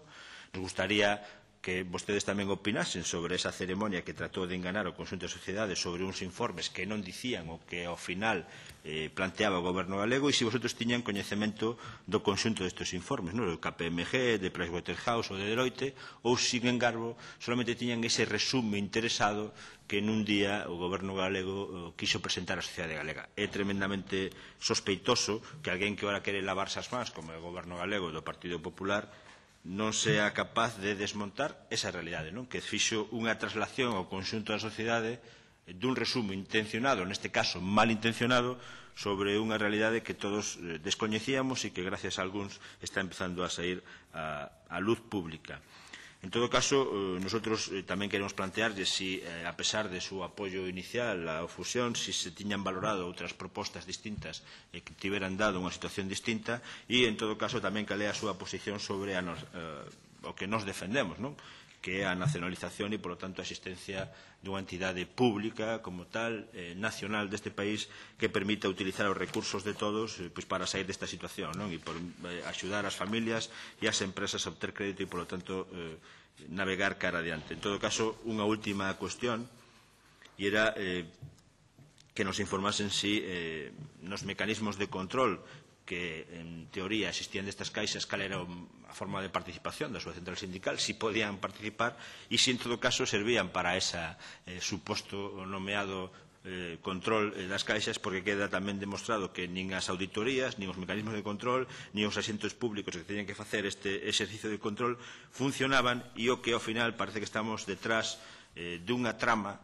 Nos gustaría que vostedes tamén opinasen sobre esa ceremonia que tratou de enganar o conxunto da sociedade sobre uns informes que non dicían o que ao final eh, planteaba o goberno galego e se vosotros tiñan coñecemento do conxunto destes informes, non? Do K P M G, de Pricewaterhouse ou de Deloitte, ou, sin embargo, solamente tiñan ese resume interesado que nun día o goberno galego eh, quiso presentar á sociedade galega. É tremendamente sospeitoso que alguén que ora quere lavarse as mans, como é o goberno galego do Partido Popular, non sea capaz de desmontar esa realidade, non? Que fixo unha traslación ao conxunto da sociedade dun resumo intencionado, neste caso mal intencionado, sobre unha realidade que todos descoñecíamos e que gracias a algúns está empezando a sair a, a luz pública. En todo caso, nosotros tamén queremos plantearlle si, a pesar de su apoio inicial á fusión, si se tiñan valorado outras propostas distintas e que tiveran dado unha situación distinta e, en todo caso, tamén cal é a súa posición sobre a nos, eh, o que nos defendemos, non? que é a nacionalización e, polo tanto, a existencia dunha entidade pública como tal, eh, nacional deste país, que permita utilizar os recursos de todos eh, pois para sair desta situación, non? E por eh, axudar as familias e as empresas a obter crédito e, polo tanto, eh, navegar cara adiante. En todo caso, unha última cuestión, e era eh, que nos informasen si eh, nos mecanismos de control que en teoría existían destas caixas, cal era a forma de participación da súa central sindical, si podían participar e si en todo caso servían para esa eh, suposto nomeado eh, control eh, das caixas, porque queda tamén demostrado que nin as auditorías, nin os mecanismos de control, nin os asientos públicos que teñen que facer este exercicio de control funcionaban, e o que ao final parece que estamos detrás eh, dunha trama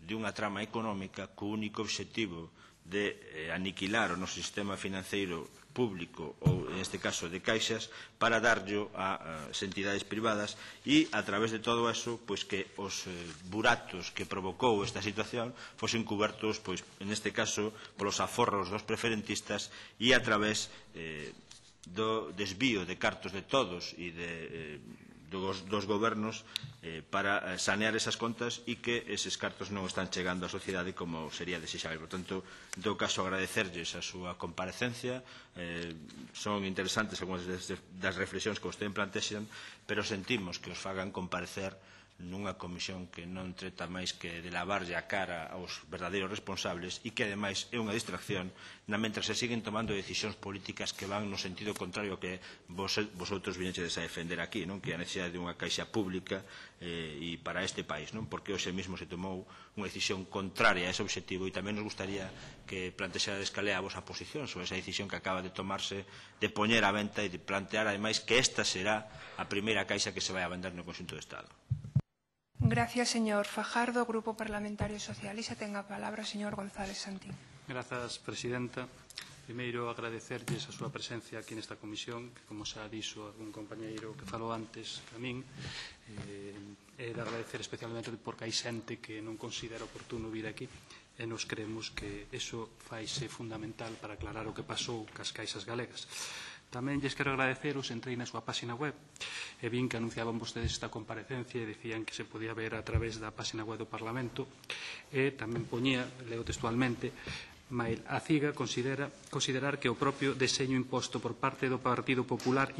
dunha trama económica co único obxectivo de eh, aniquilar o noso sistema financeiro público ou, en este caso, de caixas para darllo a, a entidades privadas e, a través de todo eso, pois que os eh, buratos que provocou esta situación fosen cubertos, pois, en este caso, polos aforros dos preferentistas e a través eh, do desvío de cartos de todos e de eh, dos, dos gobernos eh, para sanear esas contas e que eses cartos non están chegando á sociedade como sería desexable. Por tanto, en todo caso, agradecerlles a súa comparecencia. Eh, son interesantes algunhas das reflexións que vostede plantexan, pero sentimos que os fagan comparecer nunha comisión que non trata máis que de lavarlle a cara aos verdadeiros responsables e que, ademais, é unha distracción na mentras se siguen tomando decisións políticas que van no sentido contrario que vos, vosotros viñeches a defender aquí, non? Que é a necesidade de unha caixa pública eh, e para este país, non? Porque hoxe mesmo se tomou unha decisión contraria a ese objetivo e tamén nos gustaría que plantexades cal é a vosa posición sobre esa decisión que acaba de tomarse de poñer á venta e de plantear, ademais, que esta será a primeira caixa que se vai a vender no conxunto do Estado. Gracias, señor Fajardo. Grupo Parlamentario Socialista, ten a palabra o señor González Santín. Grazas, presidenta. Primeiro, agradecerlles a súa presencia aquí nesta comisión, que, como xa dixo algún compañeiro que falou antes a min, eh, é de agradecer especialmente porque hai xente que non considera oportuno vir aquí e nos creemos que iso faise fundamental para aclarar o que pasou cas caixas galegas. Tamén lles quero agradeceros, entrei na súa página web e vin que anunciaban vostedes esta comparecencia e dicían que se podía ver a través da página web do Parlamento e tamén poñía, leo textualmente, Mail a CIGA considera considerar que o propio deseño imposto por parte do Partido Popular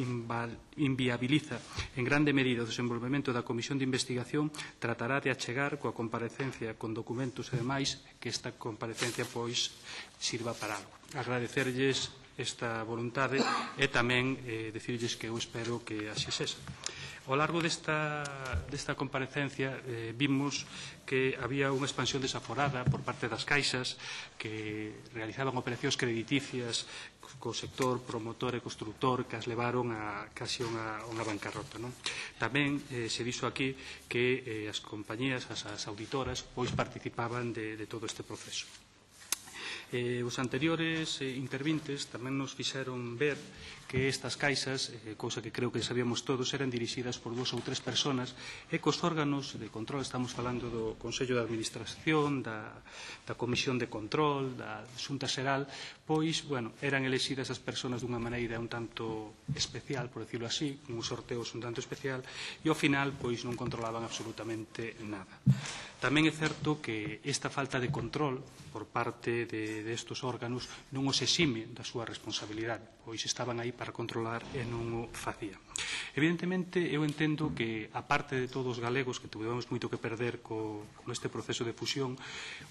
inviabiliza en grande medida o desenvolvemento da Comisión de Investigación, tratará de achegar coa comparecencia con documentos e demais que esta comparecencia pois sirva para algo. Agradecerlles esta voluntade e tamén eh, dicirlles que eu espero que así sexa. Ao largo desta, desta comparecencia eh, vimos que había unha expansión desaforada por parte das caixas que realizaban operacións crediticias co sector promotor e constructor que as levaron a casi unha, unha bancarrota. Non? Tamén eh, se dixo aquí que eh, as compañías, as, as auditoras, pois participaban de, de todo este proceso. Eh, os anteriores eh, intervintes tamén nos fixeron ver que estas caixas, eh, cousa que creo que sabíamos todos, eran dirixidas por dúas ou tres personas e cos órganos de control, estamos falando do Consello de Administración, da, da Comisión de Control, da Xunta Xeral, pois, bueno, eran elexidas as persoas dunha maneira un tanto especial, por decirlo así, con uns sorteos un tanto especial, e ao final, pois, non controlaban absolutamente nada. Tamén é certo que esta falta de control por parte de, de estos órganos non os exime da súa responsabilidade, pois estaban aí para controlar e non o facían. Evidentemente, eu entendo que, a parte de todos os galegos que tuvemos moito que perder co, con este proceso de fusión,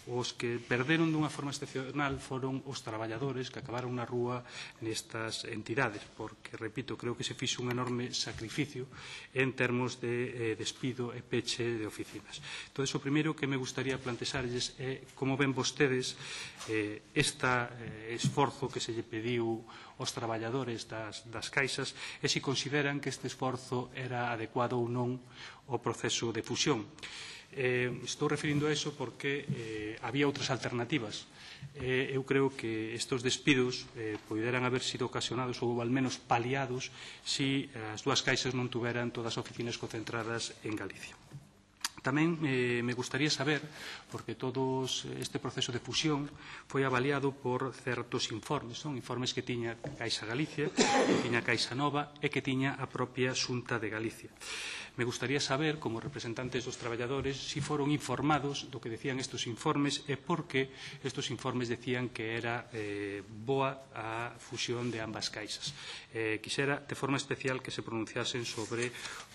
os que perderon dunha forma excepcional foron os traballadores que acabaron na rúa nestas entidades, porque, repito, creo que se fixe un enorme sacrificio en termos de eh, despido e peche de oficinas. Entón, o primeiro que me gustaría plantexarlles é como ven vostedes eh, este eh, esforzo que se lle pediu aos traballadores das, das caixas e se consideran que este esforzo era adecuado ou non ao proceso de fusión. Eh, estou referindo a eso porque eh, había outras alternativas. Eh, eu creo que estes despidos eh, poderan haber sido ocasionados ou al menos paliados se as dúas caixas non tuveran todas as oficinas concentradas en Galicia. Tamén eh, me gustaría saber, porque todo este proceso de fusión foi avaliado por certos informes, son informes que tiña Caixa Galicia, que tiña Caixa Nova e que tiña a propia Xunta de Galicia. Me gustaría saber, como representantes dos traballadores, si foron informados do que decían estes informes e por que estes informes decían que era eh, boa a fusión de ambas caixas. Eh, quixera, de forma especial, que se pronunciasen sobre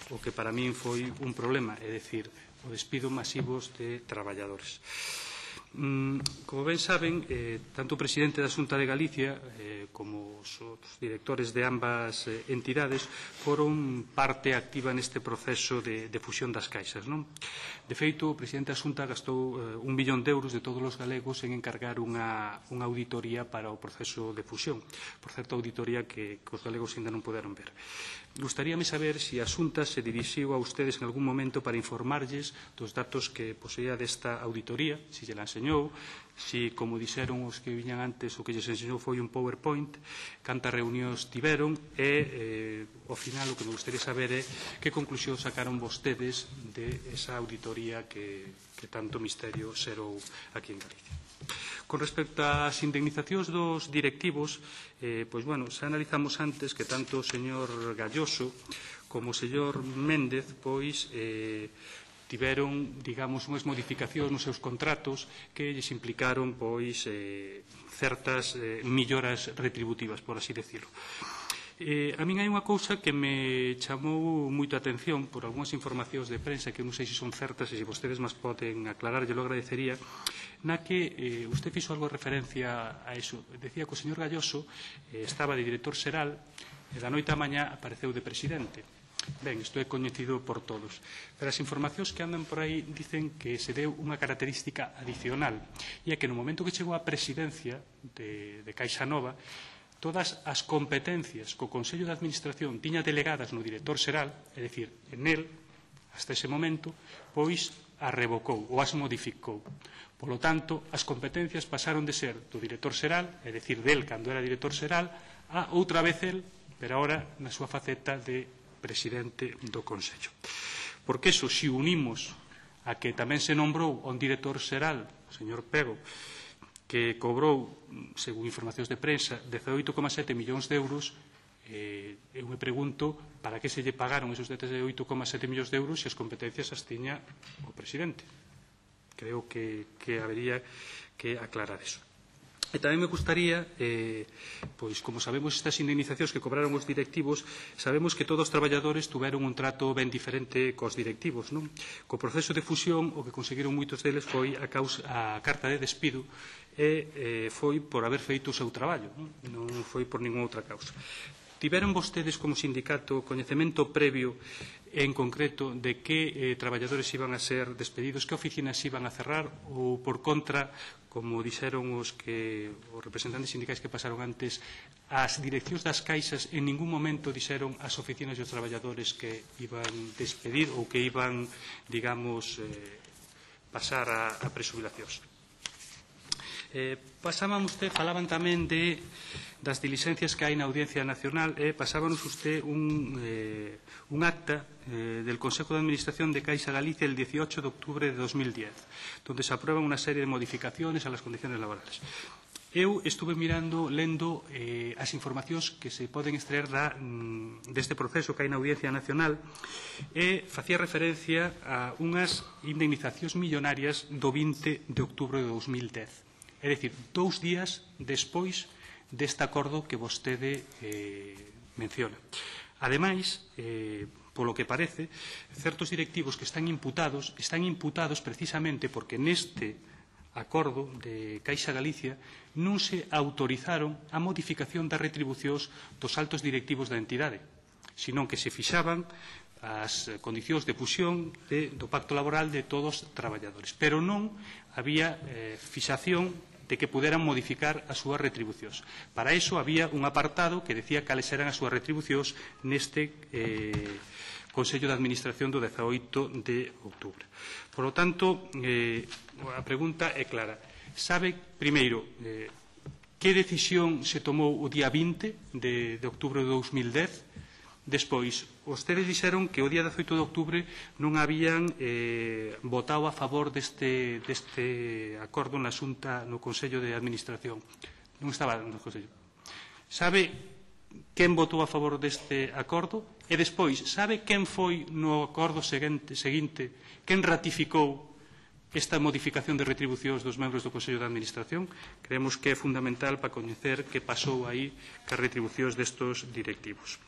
o que para min foi un problema, é dicir, o despido masivos de traballadores. Como ben saben, eh, tanto o presidente da Xunta de Galicia eh, como os, os directores de ambas eh, entidades foron parte activa neste proceso de, de fusión das caixas. Non? De feito, o presidente da Xunta gastou eh, un billón de euros de todos os galegos en encargar unha, unha auditoría para o proceso de fusión. Por certo, auditoría que, que os galegos ainda non poderon ver. Gustaríame saber se a Xunta se dirixiu a ustedes en algún momento para informarlles dos datos que poseía desta auditoría, se lle la enseñou, si, como dixeron os que viñan antes, o que lles enseñou foi un PowerPoint, cantas reunións tiveron e, eh, ao final, o que me gustaría saber é que conclusión sacaron vostedes de esa auditoría que, que tanto misterio xerou aquí en Galicia. Con respecto ás indemnizacións dos directivos, eh, pois, bueno, xa analizamos antes que tanto o señor Galloso como o señor Méndez, pois, eh, tiveron, digamos, unhas modificacións nos seus contratos que lles implicaron, pois, eh, certas eh, melloras retributivas, por así decirlo. Eh, a min hai unha cousa que me chamou moito a atención por algunhas informacións de prensa que non sei se son certas e se vostedes máis poden aclarar, yo lo agradecería, na que eh, usted fixo algo de referencia a eso. Decía que o señor Galloso eh, estaba de director xeral e da noite á mañá apareceu de presidente. Ben, isto é coñecido por todos. Pero as informacións que andan por aí dicen que se deu unha característica adicional e é que no momento que chegou a presidencia de, de Caixa Nova, todas as competencias que o Consello de Administración tiña delegadas no director xeral, é dicir, en el, hasta ese momento, pois as revocou ou as modificou. Polo tanto, as competencias pasaron de ser do director xeral, é dicir, del cando era director xeral, a outra vez el, pero agora na súa faceta de presidente do Consello. Porque eso, se unimos a que tamén se nombrou un director xeral, o señor Pego, que cobrou, según informacións de prensa, dezaoito coma sete millóns de euros, eh, eu me pregunto para que se lle pagaron esos dezaoito coma sete millóns de euros se as competencias as tiña o presidente. Creo que, que habería que aclarar eso. E tamén me gustaría, eh, pois, como sabemos estas indemnizacións que cobraron os directivos, sabemos que todos os traballadores tuveron un trato ben diferente cos directivos, non? Co proceso de fusión, o que conseguiron moitos deles foi a, causa, a carta de despido e eh, foi por haber feito o seu traballo, non? Non foi por ninguna outra causa. Tiveron vostedes como sindicato coñecemento previo en concreto de que eh, traballadores iban a ser despedidos, que oficinas iban a cerrar ou, por contra, como dixeron os, que, os representantes sindicais que pasaron antes, as direccións das caixas en ningún momento dixeron as oficinas e os traballadores que iban despedir ou que iban, digamos, eh, pasar a, a presubilacións. Eh, pasaban usted, falaban tamén de das diligencias que hai na Audiencia Nacional e eh, pasábanos usted un, eh, un acta eh, del Consejo de Administración de Caixa Galicia el dieciocho de octubre de dos mil diez, donde se aprueban unha serie de modificaciones a las condiciones laborales. Eu estuve mirando, lendo eh, as informacións que se poden extraer da, mm, deste proceso que hai na Audiencia Nacional e facía referencia a unhas indemnizacións millonarias do vinte de octubre de dos mil dez. É dicir, dous días despois deste acordo que vostede eh, menciona. Ademais, eh, polo que parece, certos directivos que están imputados, están imputados precisamente porque neste acordo de Caixa Galicia non se autorizaron a modificación das retribucións dos altos directivos da entidade, senón que se fixaban as condicións de fusión de, do pacto laboral de todos os traballadores. Pero non había eh, fixación de que puderan modificar as súas retribucións. Para iso había un apartado que decía cales eran as súas retribucións neste eh, Consello de Administración do dezaoito de outubro. Por lo tanto, eh, a pregunta é clara. Sabe, primeiro, eh, que decisión se tomou o día vinte de, de outubro de dos mil dez Despois, vostedes dixeron que o día dezoito de outubro non habían eh, votado a favor deste, deste acordo na Xunta, no Consello de Administración. Non estaba no Consello. Sabe quen votou a favor deste acordo? E despois, sabe quen foi no acordo seguinte, seguinte quen ratificou esta modificación de retribucións dos membros do Consello de Administración? Creemos que é fundamental para coñecer que pasou aí cas retribucións destos directivos.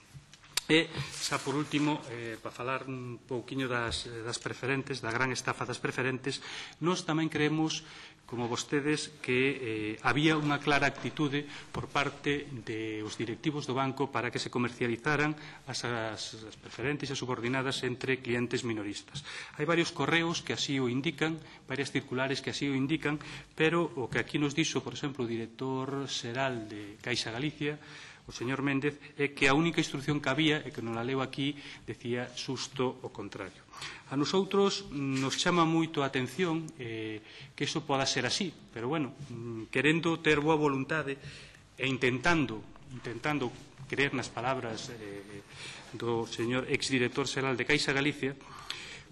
E, xa por último, eh, para falar un pouquiño das, das preferentes, da gran estafa das preferentes, nós tamén creemos, como vostedes, que eh, había unha clara actitude por parte dos directivos do banco para que se comercializaran as, as, as preferentes e subordinadas entre clientes minoristas. Hai varios correos que así o indican, varias circulares que así o indican, pero o que aquí nos dixo, por exemplo, o director xeral de Caixa Galicia, o señor Méndez, é que a única instrucción que había, e que non la leo aquí, decía xusto o contrario. A nosotros nos chama moito a atención eh, que iso poda ser así, pero, bueno, querendo ter boa voluntade e intentando, intentando creer nas palabras eh, do señor exdirector xeral de Caixa Galicia,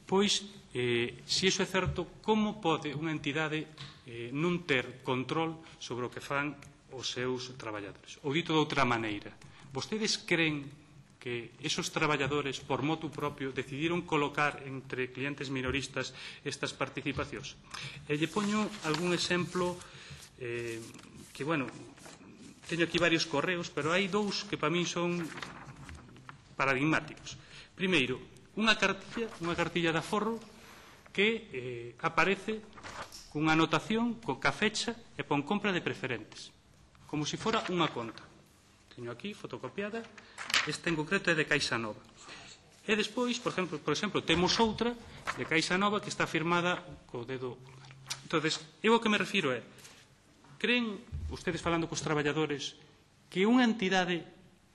pois, eh, se iso é certo, como pode unha entidade eh, non ter control sobre o que fan os seus traballadores? Ou dito de outra maneira, vostedes creen que esos traballadores, por motu propio, decidiron colocar entre clientes minoristas estas participacións? E lle poño algún exemplo eh, que, bueno, teño aquí varios correos, pero hai dous que para min son paradigmáticos. Primeiro, unha cartilla, unha cartilla de aforro que eh, aparece cunha anotación, con ca fecha e pon compra de preferentes, como se fora unha conta. Teño aquí fotocopiada, esta en concreto é de Caixa Nova. E despois, por exemplo, por exemplo temos outra de Caixa Nova que está firmada co dedo pulgar. Entonces, eu o que me refiro é, creen, ustedes falando cos traballadores, que unha entidade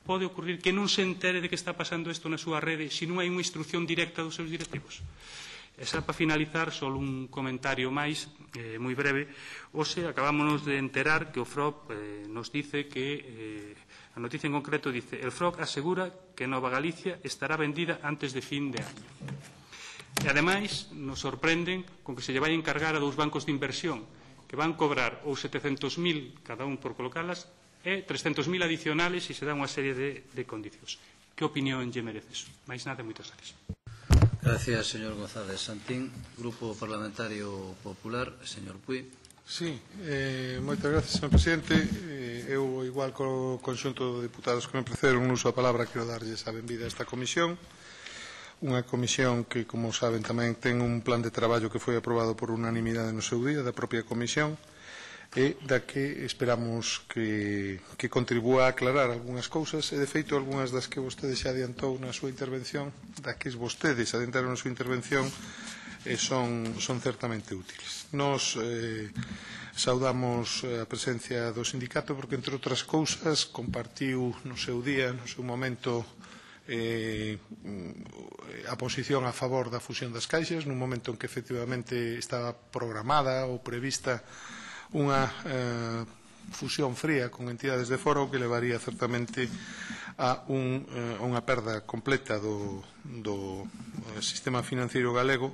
pode ocurrir que non se entere de que está pasando isto na súa rede se non hai unha instrucción directa dos seus directivos? E xa para finalizar, só un comentario máis, eh, moi breve. Hoxe acabámonos de enterar que o F R O P eh, nos dice que, eh, a noticia en concreto dice, el F R O C asegura que Nova Galicia estará vendida antes de fin de año. E ademais nos sorprenden con que se lle vai encargar a dous bancos de inversión que van cobrar ou setecentos mil cada un por colocalas e trescentos mil adicionales e se dá unha serie de, de condicións. Que opinión lle merece eso? Mais nada, moitas gracias. Gracias, señor González Santín. Grupo Parlamentario Popular, señor Puig. Sí, eh, moitas gracias, señor Presidente. Eh, eu, igual co conxunto de deputados que me precederon, uso a palabra, quero darlles a benvida a esta comisión. Unha comisión que, como saben, tamén ten un plan de traballo que foi aprobado por unanimidade no seu día, da propia comisión, e da que esperamos que, que contribúa a aclarar algunhas cousas, e de feito algunhas das que vostede xa adiantou na súa intervención, da que vostedes adiantaron na súa intervención, eh, son, son certamente útiles. Nos eh, saudamos a presencia do sindicato porque, entre outras cousas, compartiu no seu día, no seu momento, eh, a posición a favor da fusión das caixas, nun momento en que efectivamente estaba programada ou prevista unha eh, fusión fría con entidades de fora, o que levaría certamente a un, eh, unha perda completa do, do sistema financiero galego,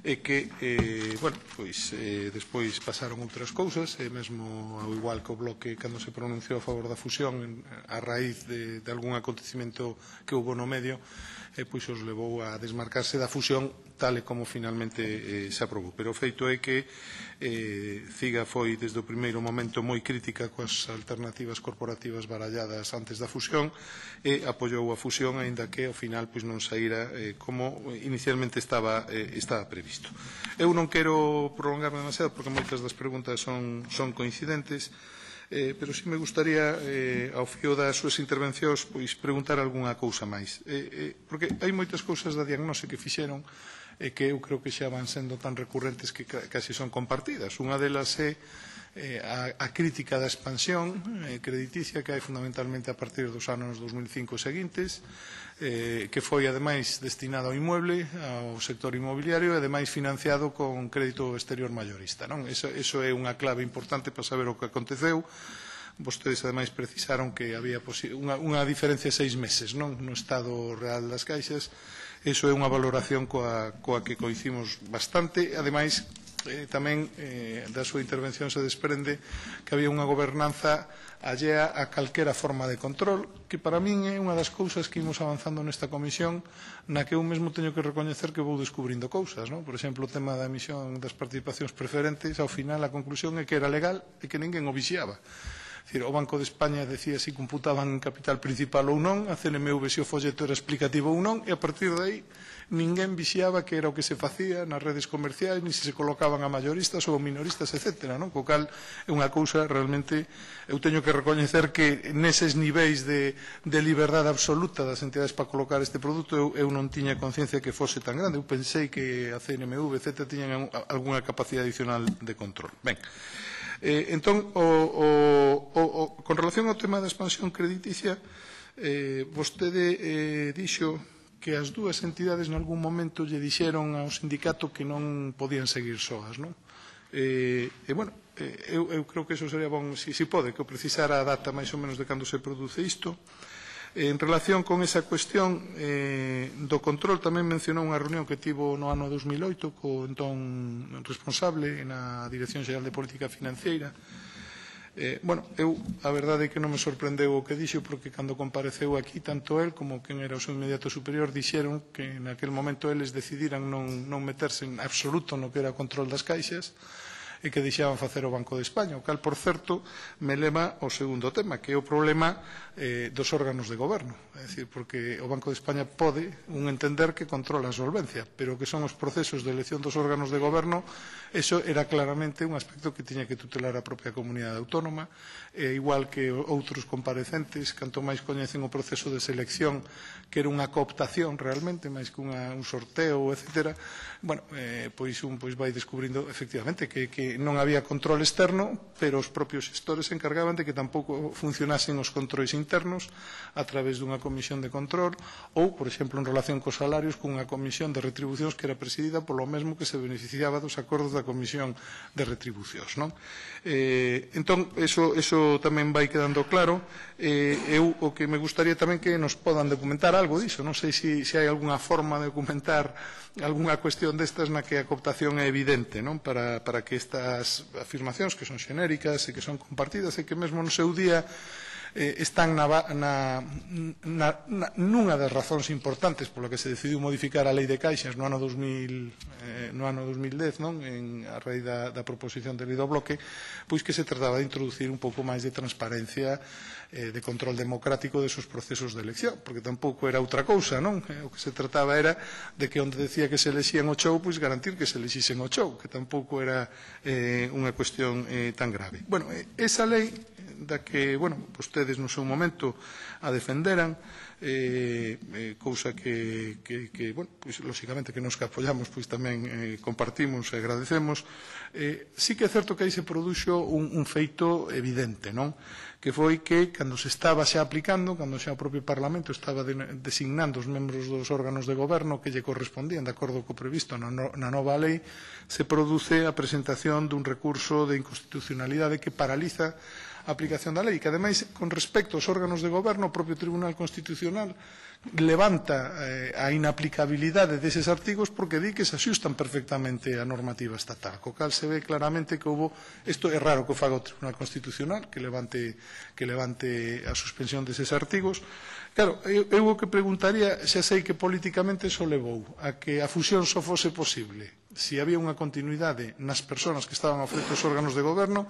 e que, eh, bueno, pois eh, despois pasaron outras cousas, e mesmo ao igual que o Bloque cando se pronunciou a favor da fusión a raíz de, de algún acontecimento que houve no medio, e pois os levou a desmarcarse da fusión tal e como finalmente eh, se aprobou. Pero o feito é que eh, CIGA foi desde o primeiro momento moi crítica coas alternativas corporativas baralladas antes da fusión e apoiou a fusión, aínda que ao final pois non saíra eh, como inicialmente estaba, eh, estaba previsto. Eu non quero prolongarme demasiado porque moitas das preguntas son, son coincidentes, Eh, pero si me gustaría, eh, ao fío das súas intervencións, pois preguntar algunha cousa máis. Eh, eh, porque hai moitas cousas da diagnose que fixeron e eh, que eu creo que xa van sendo tan recurrentes que casi son compartidas. Unha delas é eh, a, a crítica da expansión eh, crediticia que hai fundamentalmente a partir dos anos dos mil cinco e seguintes, eh, que foi ademais destinado ao inmueble, ao sector inmobiliario, e ademais financiado con crédito exterior maiorista. Non? Eso, eso é unha clave importante para saber o que aconteceu, vostedes ademais precisaron que había unha, unha diferencia de seis meses non no estado real das caixas. Iso é unha valoración coa, coa que coincidimos bastante. Ademais, eh, tamén eh, da súa intervención se desprende que había unha gobernanza allea a calquera forma de control, que para min é unha das cousas que imos avanzando nesta comisión, na que eu mesmo teño que recoñecer que vou descubrindo cousas, non? Por exemplo, o tema da emisión das participacións preferentes, ao final a conclusión é que era legal e que ninguén o vixiaba. Decir, o Banco de España decía se computaban en capital principal ou non, a C N M V se o folleto era explicativo ou non, e a partir de aí ninguén vixiaba que era o que se facía nas redes comerciais, ni se se colocaban a mayoristas ou minoristas, etcétera. Non? Co cal é unha cousa realmente, eu teño que recoñecer que neses niveis de, de liberdade absoluta das entidades para colocar este produto eu, eu non tiña conciencia que fose tan grande. Eu pensei que a C N M V, etcétera, tiñan algunha capacidade adicional de control. Ben, Eh, entón, o, o, o, o, con relación ao tema da expansión crediticia, eh, vostede eh, dixo que as dúas entidades en algún momento lle dixeron ao sindicato que non podían seguir soas, non? E, e bueno, eh, eu, eu creo que eso sería bon, si, si pode, que o precisara a data máis ou menos de cando se produce isto. En relación con esa cuestión eh, do control, tamén mencionou unha reunión que tivo no ano dos mil oito co entón responsable na Dirección Xeral de Política Financeira. Eh, bueno, eu a verdade é que non me sorprendeu o que dixo, porque cando compareceu aquí tanto el como quen era o seu inmediato superior dixeron que naquel momento eles decidiran non, non meterse en absoluto no que era o control das caixas e que deixaban facer o Banco de España, o cal, por certo, me leva ao segundo tema, que é o problema eh, dos órganos de goberno. É dicir, porque o Banco de España pode un entender que controla a solvencia, pero que son os procesos de elección dos órganos de goberno, eso era claramente un aspecto que tiña que tutelar a propia comunidade autónoma, e igual que outros comparecentes, canto máis coñecen o proceso de selección, que era unha cooptación realmente, máis que unha, un sorteo, etcétera, bueno, eh, pois un pois vai descubrindo efectivamente que, que non había control externo, pero os propios xestores se encargaban de que tampouco funcionasen os controis internos a través dunha comisión de control ou, por exemplo, en relación cos salarios, cunha comisión de retribucións que era presidida polo mesmo que se beneficiaba dos acordos da comisión de retribucións. Non? Eh, entón, eso, eso tamén vai quedando claro. Eh, eu o que me gustaría tamén que nos podan documentar algo diso. Non sei se, se hai algunha forma de documentar algunha cuestión destas na que a cooptación é evidente, non? Para, para que estas afirmacións que son xenéricas e que son compartidas e que mesmo no seu día eh, están na, na, na, na, nunha das razóns importantes pola que se decidiu modificar a Lei de Caixas no ano dos mil, eh, no ano dos mil dez, non? En, a raíz da, da proposición de lei do bloque, pois que se trataba de introducir un pouco máis de transparencia, eh, de control democrático desos procesos de elección, porque tampouco era outra cousa, non? Eh, o que se trataba era de que onde decía que se elexían o chou, pois garantir que se elexisen o chou, que tampouco era eh, unha cuestión eh, tan grave. Bueno, eh, esa lei da que, bueno, vostedes no seu momento a defenderan, eh, eh, cousa que, que, que bueno, pois, lóxicamente que nos que apoyamos, pois tamén eh, compartimos e agradecemos. Eh, sí que é certo que aí se produxo un, un feito evidente, non? Que foi que, cando se estaba xa aplicando, cando xa o propio Parlamento estaba de, designando os membros dos órganos de goberno que lle correspondían, de acordo co previsto na, no, na nova lei, se produce a presentación dun recurso de inconstitucionalidade que paraliza a aplicación da lei, que ademais, con respecto aos órganos de goberno, o propio Tribunal Constitucional levanta eh, a inaplicabilidade deses artigos porque di que se axustan perfectamente a normativa estatal, co cal se ve claramente que houve, isto é raro que o faga o Tribunal Constitucional, que levante, que levante a suspensión deses artigos. Claro, eu, eu o que preguntaría, xa sei que políticamente eso levou a que a fusión só fose posible se había unha continuidade nas persoas que estaban ao frente dos órganos de goberno.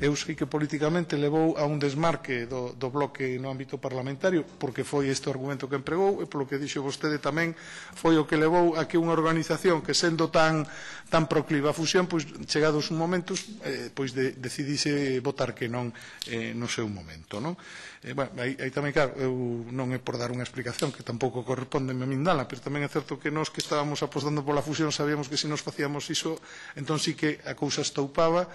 Eu sei que políticamente levou a un desmarque do, do bloque no ámbito parlamentario, porque foi este o argumento que empregou, e polo que dixo vostede tamén foi o que levou a que unha organización que sendo tan, tan procliva a fusión, pois chegados un momentos, eh, pois de, decidise votar que non eh, no seu momento, non? Eh, bueno, aí, aí tamén, claro, eu non é por dar unha explicación que tampouco corresponde a min dala, pero tamén é certo que nós que estábamos apostando pola fusión sabíamos que se nos facíamos iso, entón sí que a cousa estoupaba.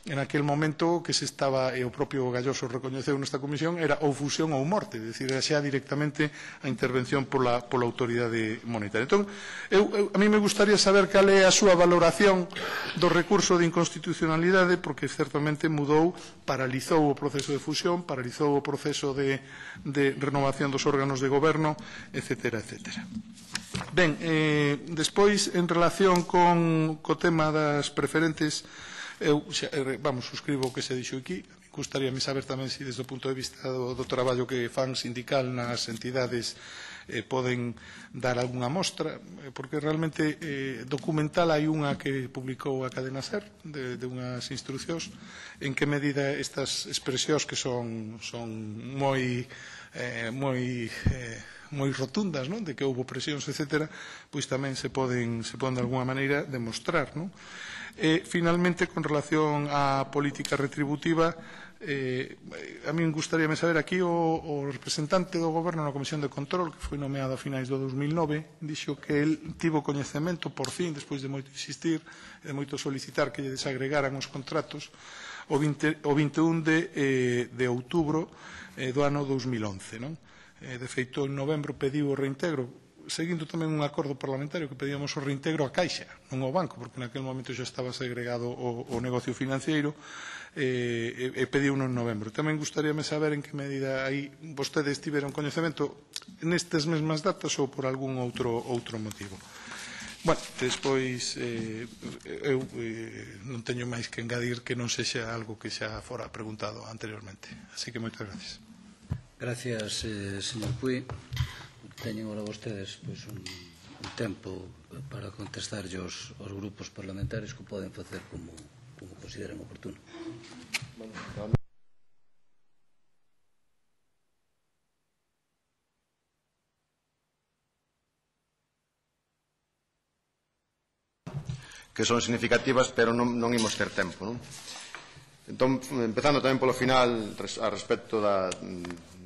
En aquel momento que se estaba, e o propio Galloso recoñeceu nesta comisión, era ou fusión ou morte, é dicir, era xa directamente a intervención pola, pola autoridade monetaria. Entón, eu, eu, a mí me gustaría saber cal é a súa valoración do recurso de inconstitucionalidade, porque certamente mudou, paralizou o proceso de fusión, paralizou o proceso de, de renovación dos órganos de goberno, etcétera, etcétera. Ben, eh, despois, en relación con co tema das preferentes, eu, xa, vamos, suscribo o que se dixo aquí. Gustaríame saber tamén se desde o punto de vista do, do traballo que fan sindical nas entidades eh, poden dar algunha mostra, porque realmente eh, documental hai unha que publicou a Cadena SER de, de unhas instruccións en que medida estas expresións que son, son moi eh, moi eh, moi rotundas, non? De que houve presións, etcétera, pois tamén se poden, se poden de alguna maneira demostrar, non? E, finalmente, con relación á política retributiva, eh, a min gustaríame saber aquí o, o representante do Goberno na Comisión de Control, que foi nomeado a finais do dos mil nove, dixo que el tivo coñecemento, por fin, despois de moito insistir, de moito solicitar que lle desagregaran os contratos, o, vinte, o vinte e un de, eh, de outubro eh, do ano dos mil once, non? Eh, de feito, en novembro pediu o reintegro, seguindo tamén un acordo parlamentario que pedíamos o reintegro a Caixa, non ao banco, porque naquele momento xa estaba segregado o, o negocio financiero, e, e pediu en novembro. Tamén gustaríame saber en que medida aí vostedes tiveron coñecemento nestes mesmas datas ou por algún outro, outro motivo. Bueno, despois eh, eu eh, non teño máis que engadir que non sexa algo que xa fora preguntado anteriormente. Así que moitas gracias. Gracias, eh, señor Puy. Teñen ahora vostedes pois, un, un tempo para contestar aos, aos grupos parlamentarios que poden facer como, como consideren oportuno. Que son significativas, pero non, non imos ter tempo, non? Entón, empezando tamén polo final a respecto da,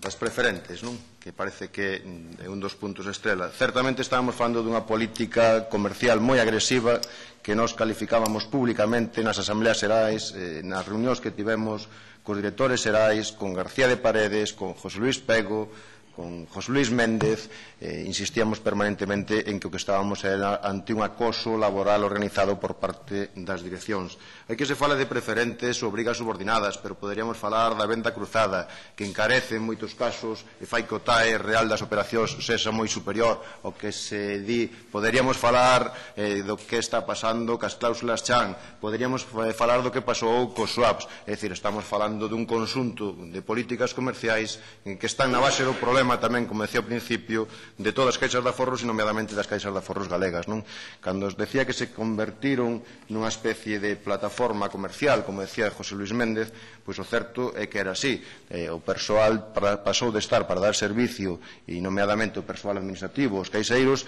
das preferentes, non? Que parece que é un dos puntos estrela. Certamente estábamos falando dunha política comercial moi agresiva que nos calificábamos públicamente nas asambleas xerais, eh, nas reunións que tivemos cos directores xerais, con García de Paredes, con José Luis Pego, con José Luis Méndez, eh, insistíamos permanentemente en que o que estábamos era ante un acoso laboral organizado por parte das direccións. Hai que se fala de preferentes ou obrigas subordinadas, pero poderíamos falar da venda cruzada, que encarece en moitos casos e fai que o T A E real das operacións sexa moi superior ao que se di. Poderíamos falar eh, do que está pasando cas cláusulas Chan, poderíamos falar do que pasou cos swaps, é dicir, estamos falando dun conxunto de políticas comerciais que están na base do problema tamén, como decía ao principio, de todas as caixas de aforros e nomeadamente das caixas de aforros galegas, non? Cando os decía que se convertiron nunha especie de plataforma comercial, como decía José Luis Méndez, pois o certo é que era así. Eh, o persoal para, pasou de estar para dar servicio e nomeadamente o persoal administrativo, os caixeiros,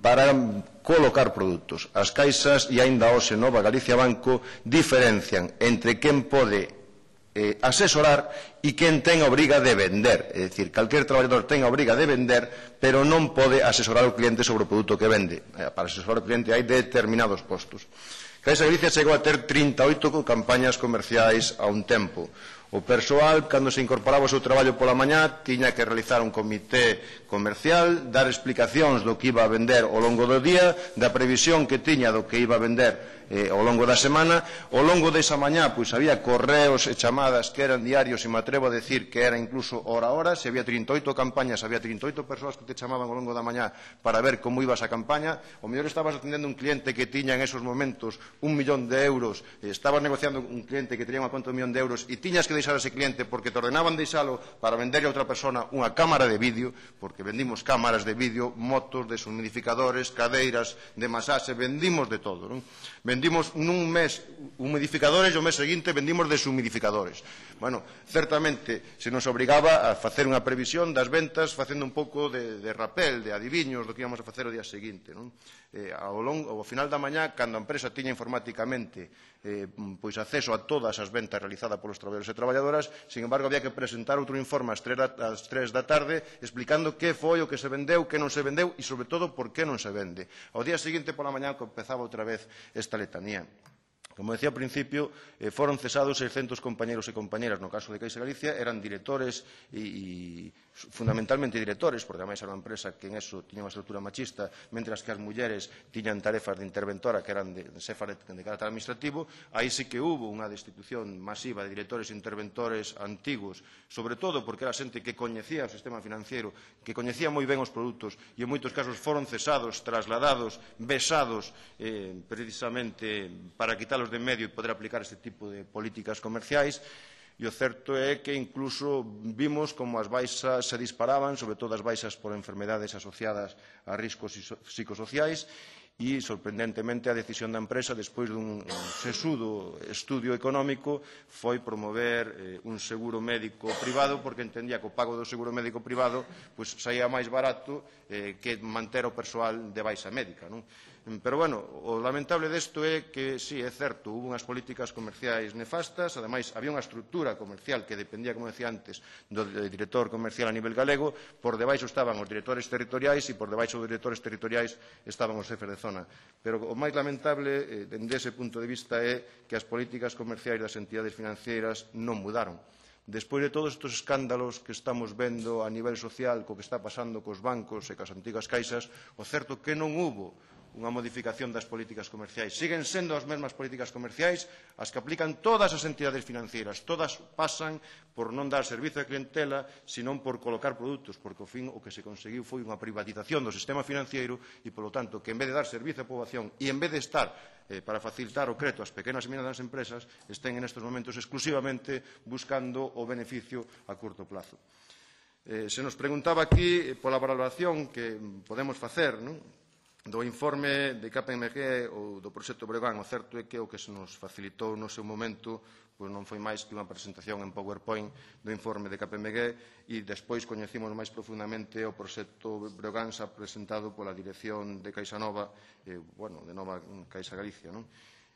para colocar produtos. As caixas e aínda hoxe Nova Galicia Banco diferencian entre quen pode Eh, asesorar e quen ten a obriga de vender. É dicir, calquer traballador ten a obriga de vender, pero non pode asesorar o cliente sobre o produto que vende. Eh, para asesorar o cliente hai determinados postos. Caixa Galicia chegou a ter trinta e oito campañas comerciais a un tempo. O persoal, cando se incorporaba ao seu traballo pola mañá, tiña que realizar un comité comercial, dar explicacións do que iba a vender ao longo do día, da previsión que tiña do que iba a vender eh, ao longo da semana. Ao longo desa mañá, pois había correos e chamadas que eran diarios, e me atrevo a decir que era incluso hora a hora. Se había trinta e oito campañas, había trinta e oito persoas que te chamaban ao longo da mañá para ver como iba esa campaña. O mellor estabas atendendo un cliente que tiña en esos momentos un millón de euros, eh, estabas negociando un cliente que tenía unha conta de un millón de euros e tiñas que deixar a ese cliente porque te ordenaban deixalo para venderle a outra persona unha cámara de vídeo, porque vendimos cámaras de vídeo, motos, deshumidificadores, cadeiras de masaxe, vendimos de todo, non? Vendimos nun mes humidificadores e o mes seguinte vendimos deshumidificadores. Bueno, certamente se nos obrigaba a facer unha previsión das ventas facendo un pouco de, de rapel, de adiviños do que íbamos a facer o día seguinte, non? eh, ao, longo, ao final da mañá, cando a empresa tiña informáticamente eh, pois acceso a todas as ventas realizadas polos traballadores e traballadoras, sin embargo, había que presentar outro informe ás tres da tarde explicando que foi o que se vendeu, que non se vendeu e, sobre todo, por que non se vende. Ao día seguinte, pola mañá, empezaba outra vez esta letanía. Como decía ao principio, eh, foron cesados seiscentos compañeros e compañeras no caso de Caixa Galicia, eran directores e, e fundamentalmente directores, porque ademais era unha empresa que en eso tiña unha estrutura machista, mentras que as mulleres tiñan tarefas de interventora que eran de, de cefas de, de carácter administrativo. Aí sí que hubo unha destitución masiva de directores e interventores antigos, sobre todo porque era xente que coñecía o sistema financiero, que coñecía moi ben os produtos e en moitos casos foron cesados, trasladados, besados eh, precisamente para quitarlos de medio e poder aplicar este tipo de políticas comerciais. E o certo é que incluso vimos como as baixas se disparaban, sobre todo as baixas por enfermedades asociadas a riscos psicosociais, e, sorprendentemente, a decisión da empresa, despois dun sesudo estudio económico, foi promover eh, un seguro médico privado, porque entendía que o pago do seguro médico privado pues, saía máis barato eh, que manter o persoal de baixa médica, non? Pero, bueno, o lamentable desto é que, sí, é certo, hubo unhas políticas comerciais nefastas, ademais, había unha estrutura comercial que dependía, como decía antes, do director comercial a nivel galego, por debaixo estaban os directores territoriais e por debaixo dos directores territoriais estaban os xefes de zona. Pero o máis lamentable, eh, dende ese punto de vista, é que as políticas comerciais das entidades financeiras non mudaron. Despois de todos estes escándalos que estamos vendo a nivel social, co que está pasando cos bancos e cas antigas caixas, o certo que non hubo unha modificación das políticas comerciais. Siguen sendo as mesmas políticas comerciais as que aplican todas as entidades financeiras. Todas pasan por non dar servizo a clientela, senón por colocar produtos, porque ao fin o que se conseguiu foi unha privatización do sistema financiero e, polo tanto, que en vez de dar servizo á poboación e en vez de estar eh, para facilitar o crédito ás pequenas e medianas empresas, estén en estes momentos exclusivamente buscando o beneficio a curto plazo. Eh, se nos preguntaba aquí eh, pola valoración que podemos facer, non? Do informe de K P M G ou do proxecto Breogán. O certo é que o que se nos facilitou no seu momento pois non foi máis que unha presentación en PowerPoint do informe de K P M G e despois coñecimos máis profundamente o proxecto Breogán xa presentado pola dirección de Caixa Nova, eh, bueno, de Nova Caixa Galicia, non?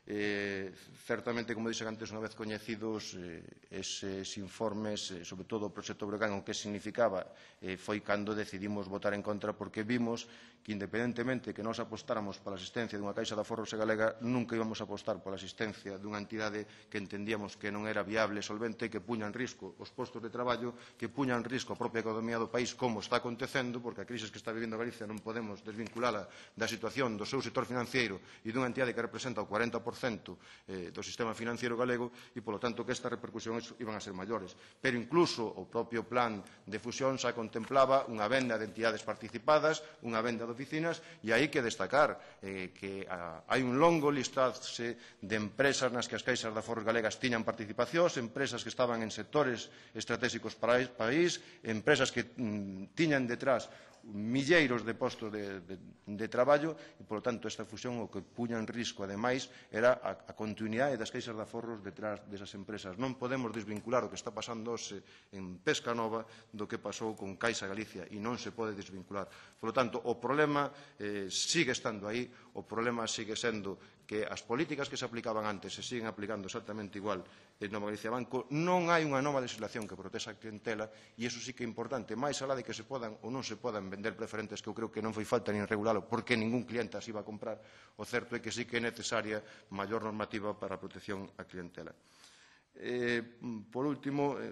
Eh, certamente, como dixen antes, unha vez coñecidos eh, eses informes, eh, sobre todo o proxecto Breogán, o que significaba, eh, foi cando decidimos votar en contra, porque vimos que, independentemente que nós apostáramos pola asistencia dunha Caixa de Aforros e Galega, nunca íbamos a apostar pola asistencia dunha entidade que entendíamos que non era viable e solvente, que puña en risco os postos de traballo, que puña en risco a propia economía do país, como está acontecendo, porque a crise que está vivindo Galicia non podemos desvinculala da situación do seu sector financiero e dunha entidade que representa o cuarenta por cento do sistema financiero galego e, polo tanto, que estas repercusións iban a ser maiores. Pero incluso o propio plan de fusión xa contemplaba unha venda de entidades participadas, unha venda de oficinas, e hai que destacar eh, que a, hai un longo listase de empresas nas que as caixas de aforros galegas tiñan participacións, empresas que estaban en sectores estratégicos para o país, empresas que mm, tiñan detrás milleiros de postos de, de, de traballo e, polo tanto, esta fusión o que puña en risco, ademais, era a, a continuidade das caixas de aforros detrás desas empresas. Non podemos desvincular o que está pasando hoxe en Pesca Nova do que pasou con Caixa Galicia e non se pode desvincular. Polo tanto, o problema eh, sigue estando aí, o problema sigue sendo que as políticas que se aplicaban antes se siguen aplicando exactamente igual en Nova Galicia Banco. Non hai unha nova legislación que protexa a clientela e iso sí que é importante, máis alá de que se podan ou non se podan vender preferentes, que eu creo que non foi falta nin regulalo porque ningún cliente as iba a comprar. O certo é que sí que é necesaria maior normativa para a protección á clientela. Eh, por último, eh,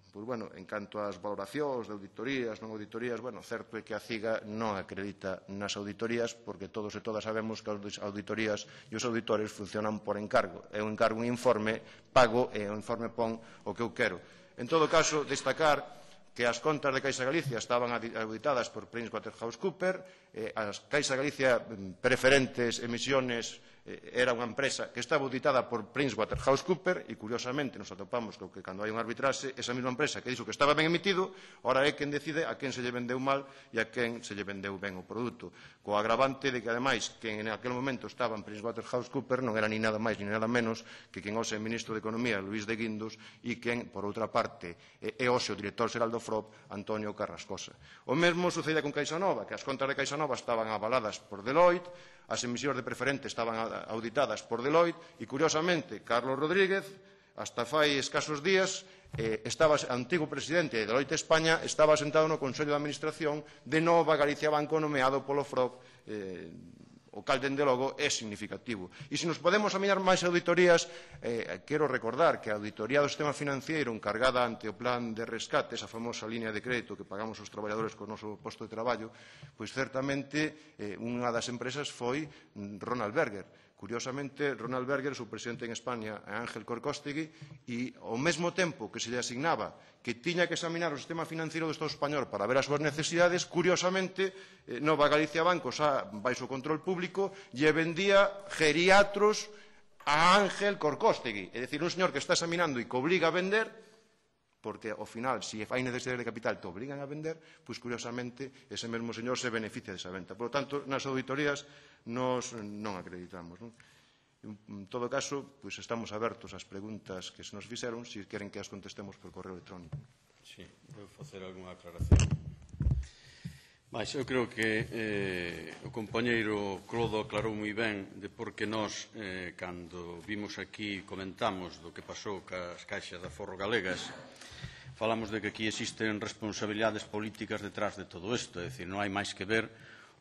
pues, bueno, en canto ás valoracións de auditorías, non auditorías, bueno, certo é que a CIGA non acredita nas auditorías porque todos e todas sabemos que as auditorías e os auditores funcionan por encargo. É un encargo, un informe, pago e o informe pon o que eu quero. En todo caso, destacar que as contas de Caixa Galicia estaban auditadas por PricewaterhouseCoopers, eh, as Caixa Galicia preferentes emisiones era unha empresa que estaba auditada por PricewaterhouseCoopers e, curiosamente, nos atopamos co que cando hai un arbitraxe, esa mesma empresa que dixo que estaba ben emitido, ora é quen decide a quen se lle vendeu mal e a quen se lle vendeu ben o produto. Co agravante de que, ademais, quen en aquel momento estaba en PricewaterhouseCoopers non era ni nada máis ni nada menos que quen hoxe é ministro de Economía, Luís de Guindos, e quen, por outra parte, é hoxe o director xeral do F R O P, Antonio Carrascosa. O mesmo sucedía con CaixaNova, que as contas de CaixaNova estaban avaladas por Deloitte, as emisións de preferente estaban auditadas por Deloitte e, curiosamente, Carlos Rodríguez, hasta fai escasos días, eh, estaba, antigo presidente de Deloitte España, estaba sentado no Consello de Administración de Nova Galicia Banco nomeado polo F R O P, eh, o cal, dende logo, é significativo. E se nos podemos examinar máis auditorías, eh, quero recordar que a auditoría do sistema financiero encargada ante o plan de rescate, esa famosa línea de crédito que pagamos os traballadores co noso posto de traballo, pois certamente eh, unha das empresas foi Ronald Berger. Curiosamente, Ronald Berger, o presidente en España, é Ángel Corcóstegui, e ao mesmo tempo que se lle asignaba que tiña que examinar o sistema financiero do Estado español para ver as súas necesidades, curiosamente, eh, Nova Galicia Banco, xa baixo control público, lle vendía geriatros a Ángel Corcóstegui. É dicir, un señor que está examinando e que obliga a vender, porque, ao final, se hai necesidade de capital te obligan a vender, pois, curiosamente, ese mesmo señor se beneficia desa venta. Por lo tanto, nas auditorías nos non acreditamos. Non? En todo caso, pois, estamos abertos ás preguntas que se nos fixeron, se queren que as contestemos por correo electrónico. Sí, vou facer algunha aclaración. Mas eu creo que eh, o compañeiro Clodo aclarou moi ben de por que nós, eh, cando vimos aquí, comentamos do que pasou cas caixas de aforro galegas, falamos de que aquí existen responsabilidades políticas detrás de todo isto, é dicir, non hai máis que ver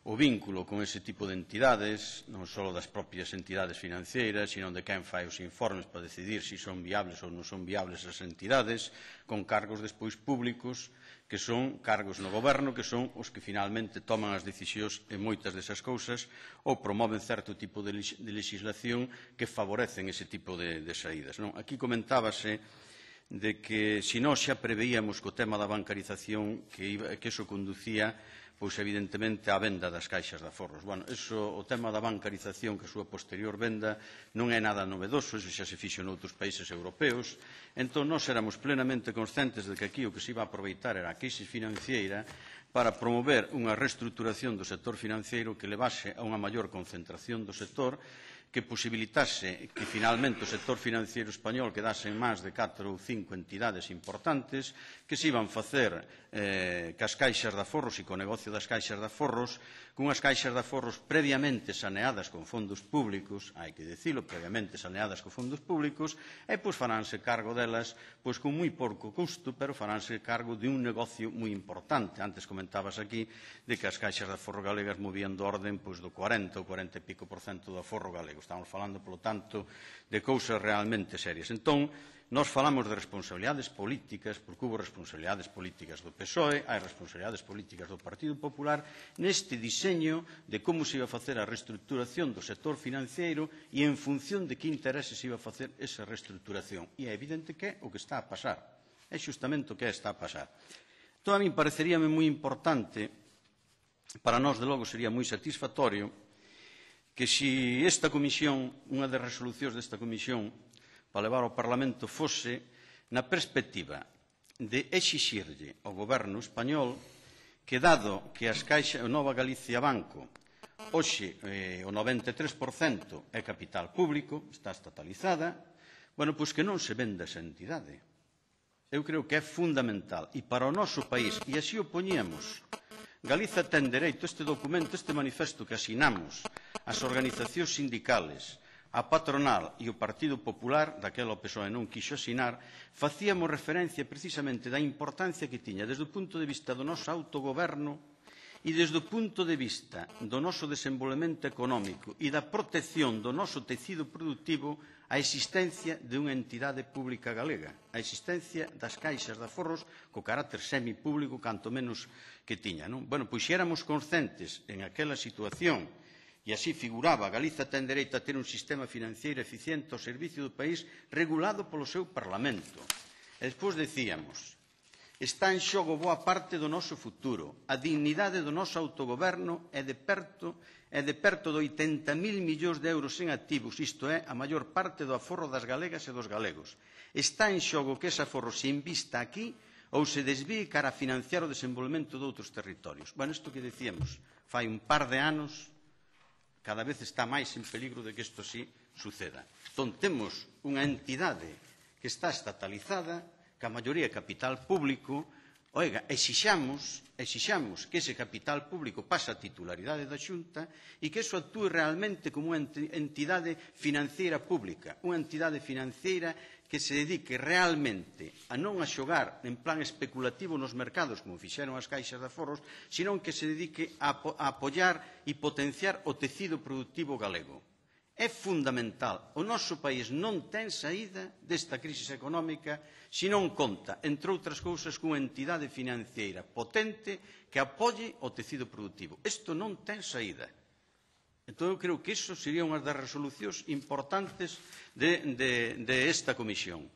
o vínculo con ese tipo de entidades, non só das propias entidades financeiras, sino de quen fai os informes para decidir se son viables ou non son viables as entidades, con cargos despois públicos, que son cargos no goberno, que son os que finalmente toman as decisións en moitas desas cousas ou promoven certo tipo de legislación que favorecen ese tipo de, de saídas. Non? Aquí comentábase de que se nós xa preveíamos co tema da bancarización que, iba, que eso conducía pois evidentemente á venda das caixas de aforros. Bueno, eso, o tema da bancarización, que a súa posterior venda, non é nada novedoso, eso xa se fixo noutros países europeos. Entón, nós éramos plenamente conscientes de que aquí o que se iba a aproveitar era a crise financiera para promover unha reestruturación do sector financeiro que levase a unha maior concentración do sector, que posibilitase que finalmente o sector financiero español quedase en máis de catro ou cinco entidades importantes que se iban facer eh, cas caixas de aforros e co negocio das caixas de aforros, cunhas caixas de aforros previamente saneadas con fondos públicos, hai que dicilo, previamente saneadas con fondos públicos, e pois faránse cargo delas pois con moi pouco custo, pero faránse cargo de un negocio moi importante. Antes comentabas aquí de que as caixas de aforro galegas movían do orden pois, do cuarenta ou cuarenta e pico por cento do aforro galego. Estamos falando, polo tanto, de cousas realmente serias. Entón, nós falamos de responsabilidades políticas, porque hubo responsabilidades políticas do P S O E, hai responsabilidades políticas do Partido Popular, neste diseño de como se iba a facer a reestruturación do sector financiero e en función de que intereses se iba a facer esa reestruturación. E é evidente que é o que está a pasar. É xustamente o que está a pasar. Entón, a mí pareceríame moi importante, para nós, de logo, sería moi satisfactorio, que se esta comisión, unha das resolucións desta comisión para levar ao Parlamento fose na perspectiva de exixirlle ao goberno español que, dado que as caixas, Nova Galicia Banco, hoxe eh, o noventa e tres por cento é capital público, está estatalizada, bueno, pois que non se venda esa entidade. Eu creo que é fundamental. E para o noso país, e así o poñíamos, Galiza ten dereito, este documento, este manifesto que asinamos, as organizacións sindicales, a patronal e o Partido Popular, daquela o P S O E non quixo asinar, facíamos referencia precisamente da importancia que tiña desde o punto de vista do noso autogoberno e desde o punto de vista do noso desenvolvemento económico e da protección do noso tecido productivo a existencia de unha entidade pública galega, a existencia das caixas de aforros co carácter semipúblico, canto menos que tiña. Non? Bueno, pois se éramos conscientes en aquela situación, e así figuraba, Galiza ten dereito a ter un sistema financiero eficiente ao servicio do país regulado polo seu Parlamento. E despois decíamos Está en xogo boa parte do noso futuro. A dignidade do noso autogoberno é de perto, é de perto de oitenta mil millóns de euros en activos, isto é, a maior parte do aforro das galegas e dos galegos. Está en xogo que ese aforro se invista aquí ou se desvíe cara a financiar o desenvolvemento de outros territorios. Bueno, isto que decíamos fai un par de anos, cada vez está máis en peligro de que isto sí suceda. Entón, temos unha entidade que está estatalizada, que a maioría é capital público, oiga, exixamos, exixamos que ese capital público pase a titularidade da Xunta e que eso actúe realmente como unha entidade financiera pública, unha entidade financiera que se dedique realmente a non a xogar en plan especulativo nos mercados, como fixeron as caixas de aforros, senón que se dedique a, a apoiar e potenciar o tecido productivo galego. É fundamental. O noso país non ten saída desta crise económica se non conta, entre outras cousas, cunha entidade financiera potente que apoie o tecido productivo. Isto non ten saída. Entón, eu creo que iso sería unha das resolucións importantes de, de, de esta comisión.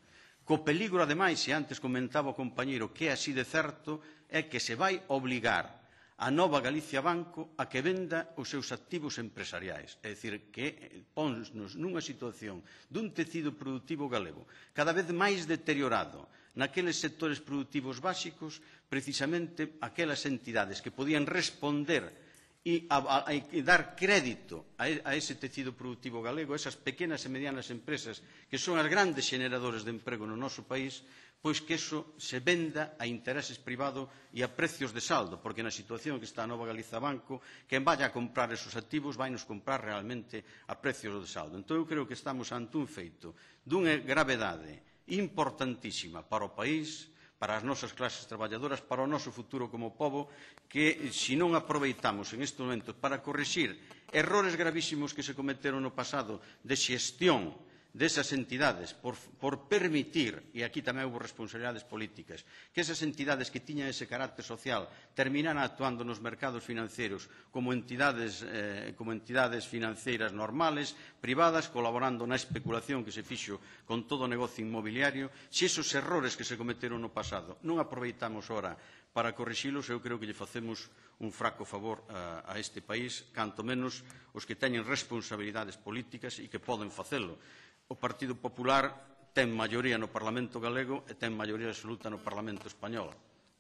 Co peligro, ademais, e antes comentaba o compañeiro que é así de certo, é que se vai obligar a Nova Galicia Banco a que venda os seus activos empresariais. É dicir, que ponnos nunha situación dun tecido productivo galego cada vez máis deteriorado naqueles sectores productivos básicos, precisamente aquelas entidades que podían responder e, a, a, e dar crédito a, a ese tecido productivo galego, esas pequenas e medianas empresas que son as grandes xeneradores de emprego no noso país, pois que eso se venda a intereses privados e a precios de saldo, porque na situación que está a Nova Galiza Banco, quen vaya a comprar esos activos vai nos comprar realmente a precios de saldo. Entón, eu creo que estamos ante un feito dunha gravedade importantísima para o país, para as nosas clases traballadoras, para o noso futuro como pobo, que se non aproveitamos en estes momentos para corrixir errores gravísimos que se cometeron no pasado de xestión desas entidades por, por permitir, e aquí tamén houve responsabilidades políticas, que esas entidades que tiñan ese carácter social terminaran actuando nos mercados financeiros como entidades, eh, como entidades financeiras normales, privadas, colaborando na especulación que se fixo con todo o negocio inmobiliario. Se esos errores que se cometeron no pasado non aproveitamos ora para corrixilos, eu creo que lle facemos un fraco favor a, a este país, canto menos os que teñen responsabilidades políticas e que poden facelo. O Partido Popular ten maioría no Parlamento galego e ten maioría absoluta no Parlamento español.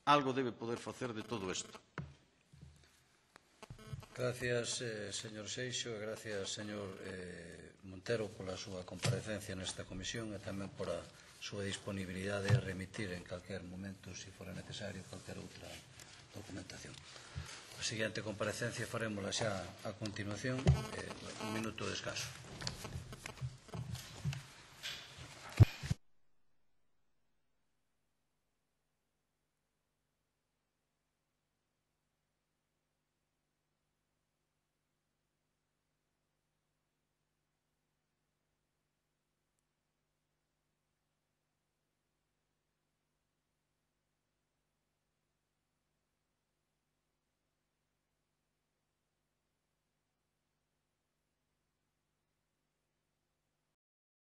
Algo debe poder facer de todo isto. Gracias, eh, señor Seixo, e gracias, señor eh, Montero, pola súa comparecencia nesta comisión e tamén por a súa disponibilidade a remitir en calquer momento, se fora necesario, calquer outra documentación. A seguinte comparecencia farémola xa a continuación, eh, un minuto de descanso.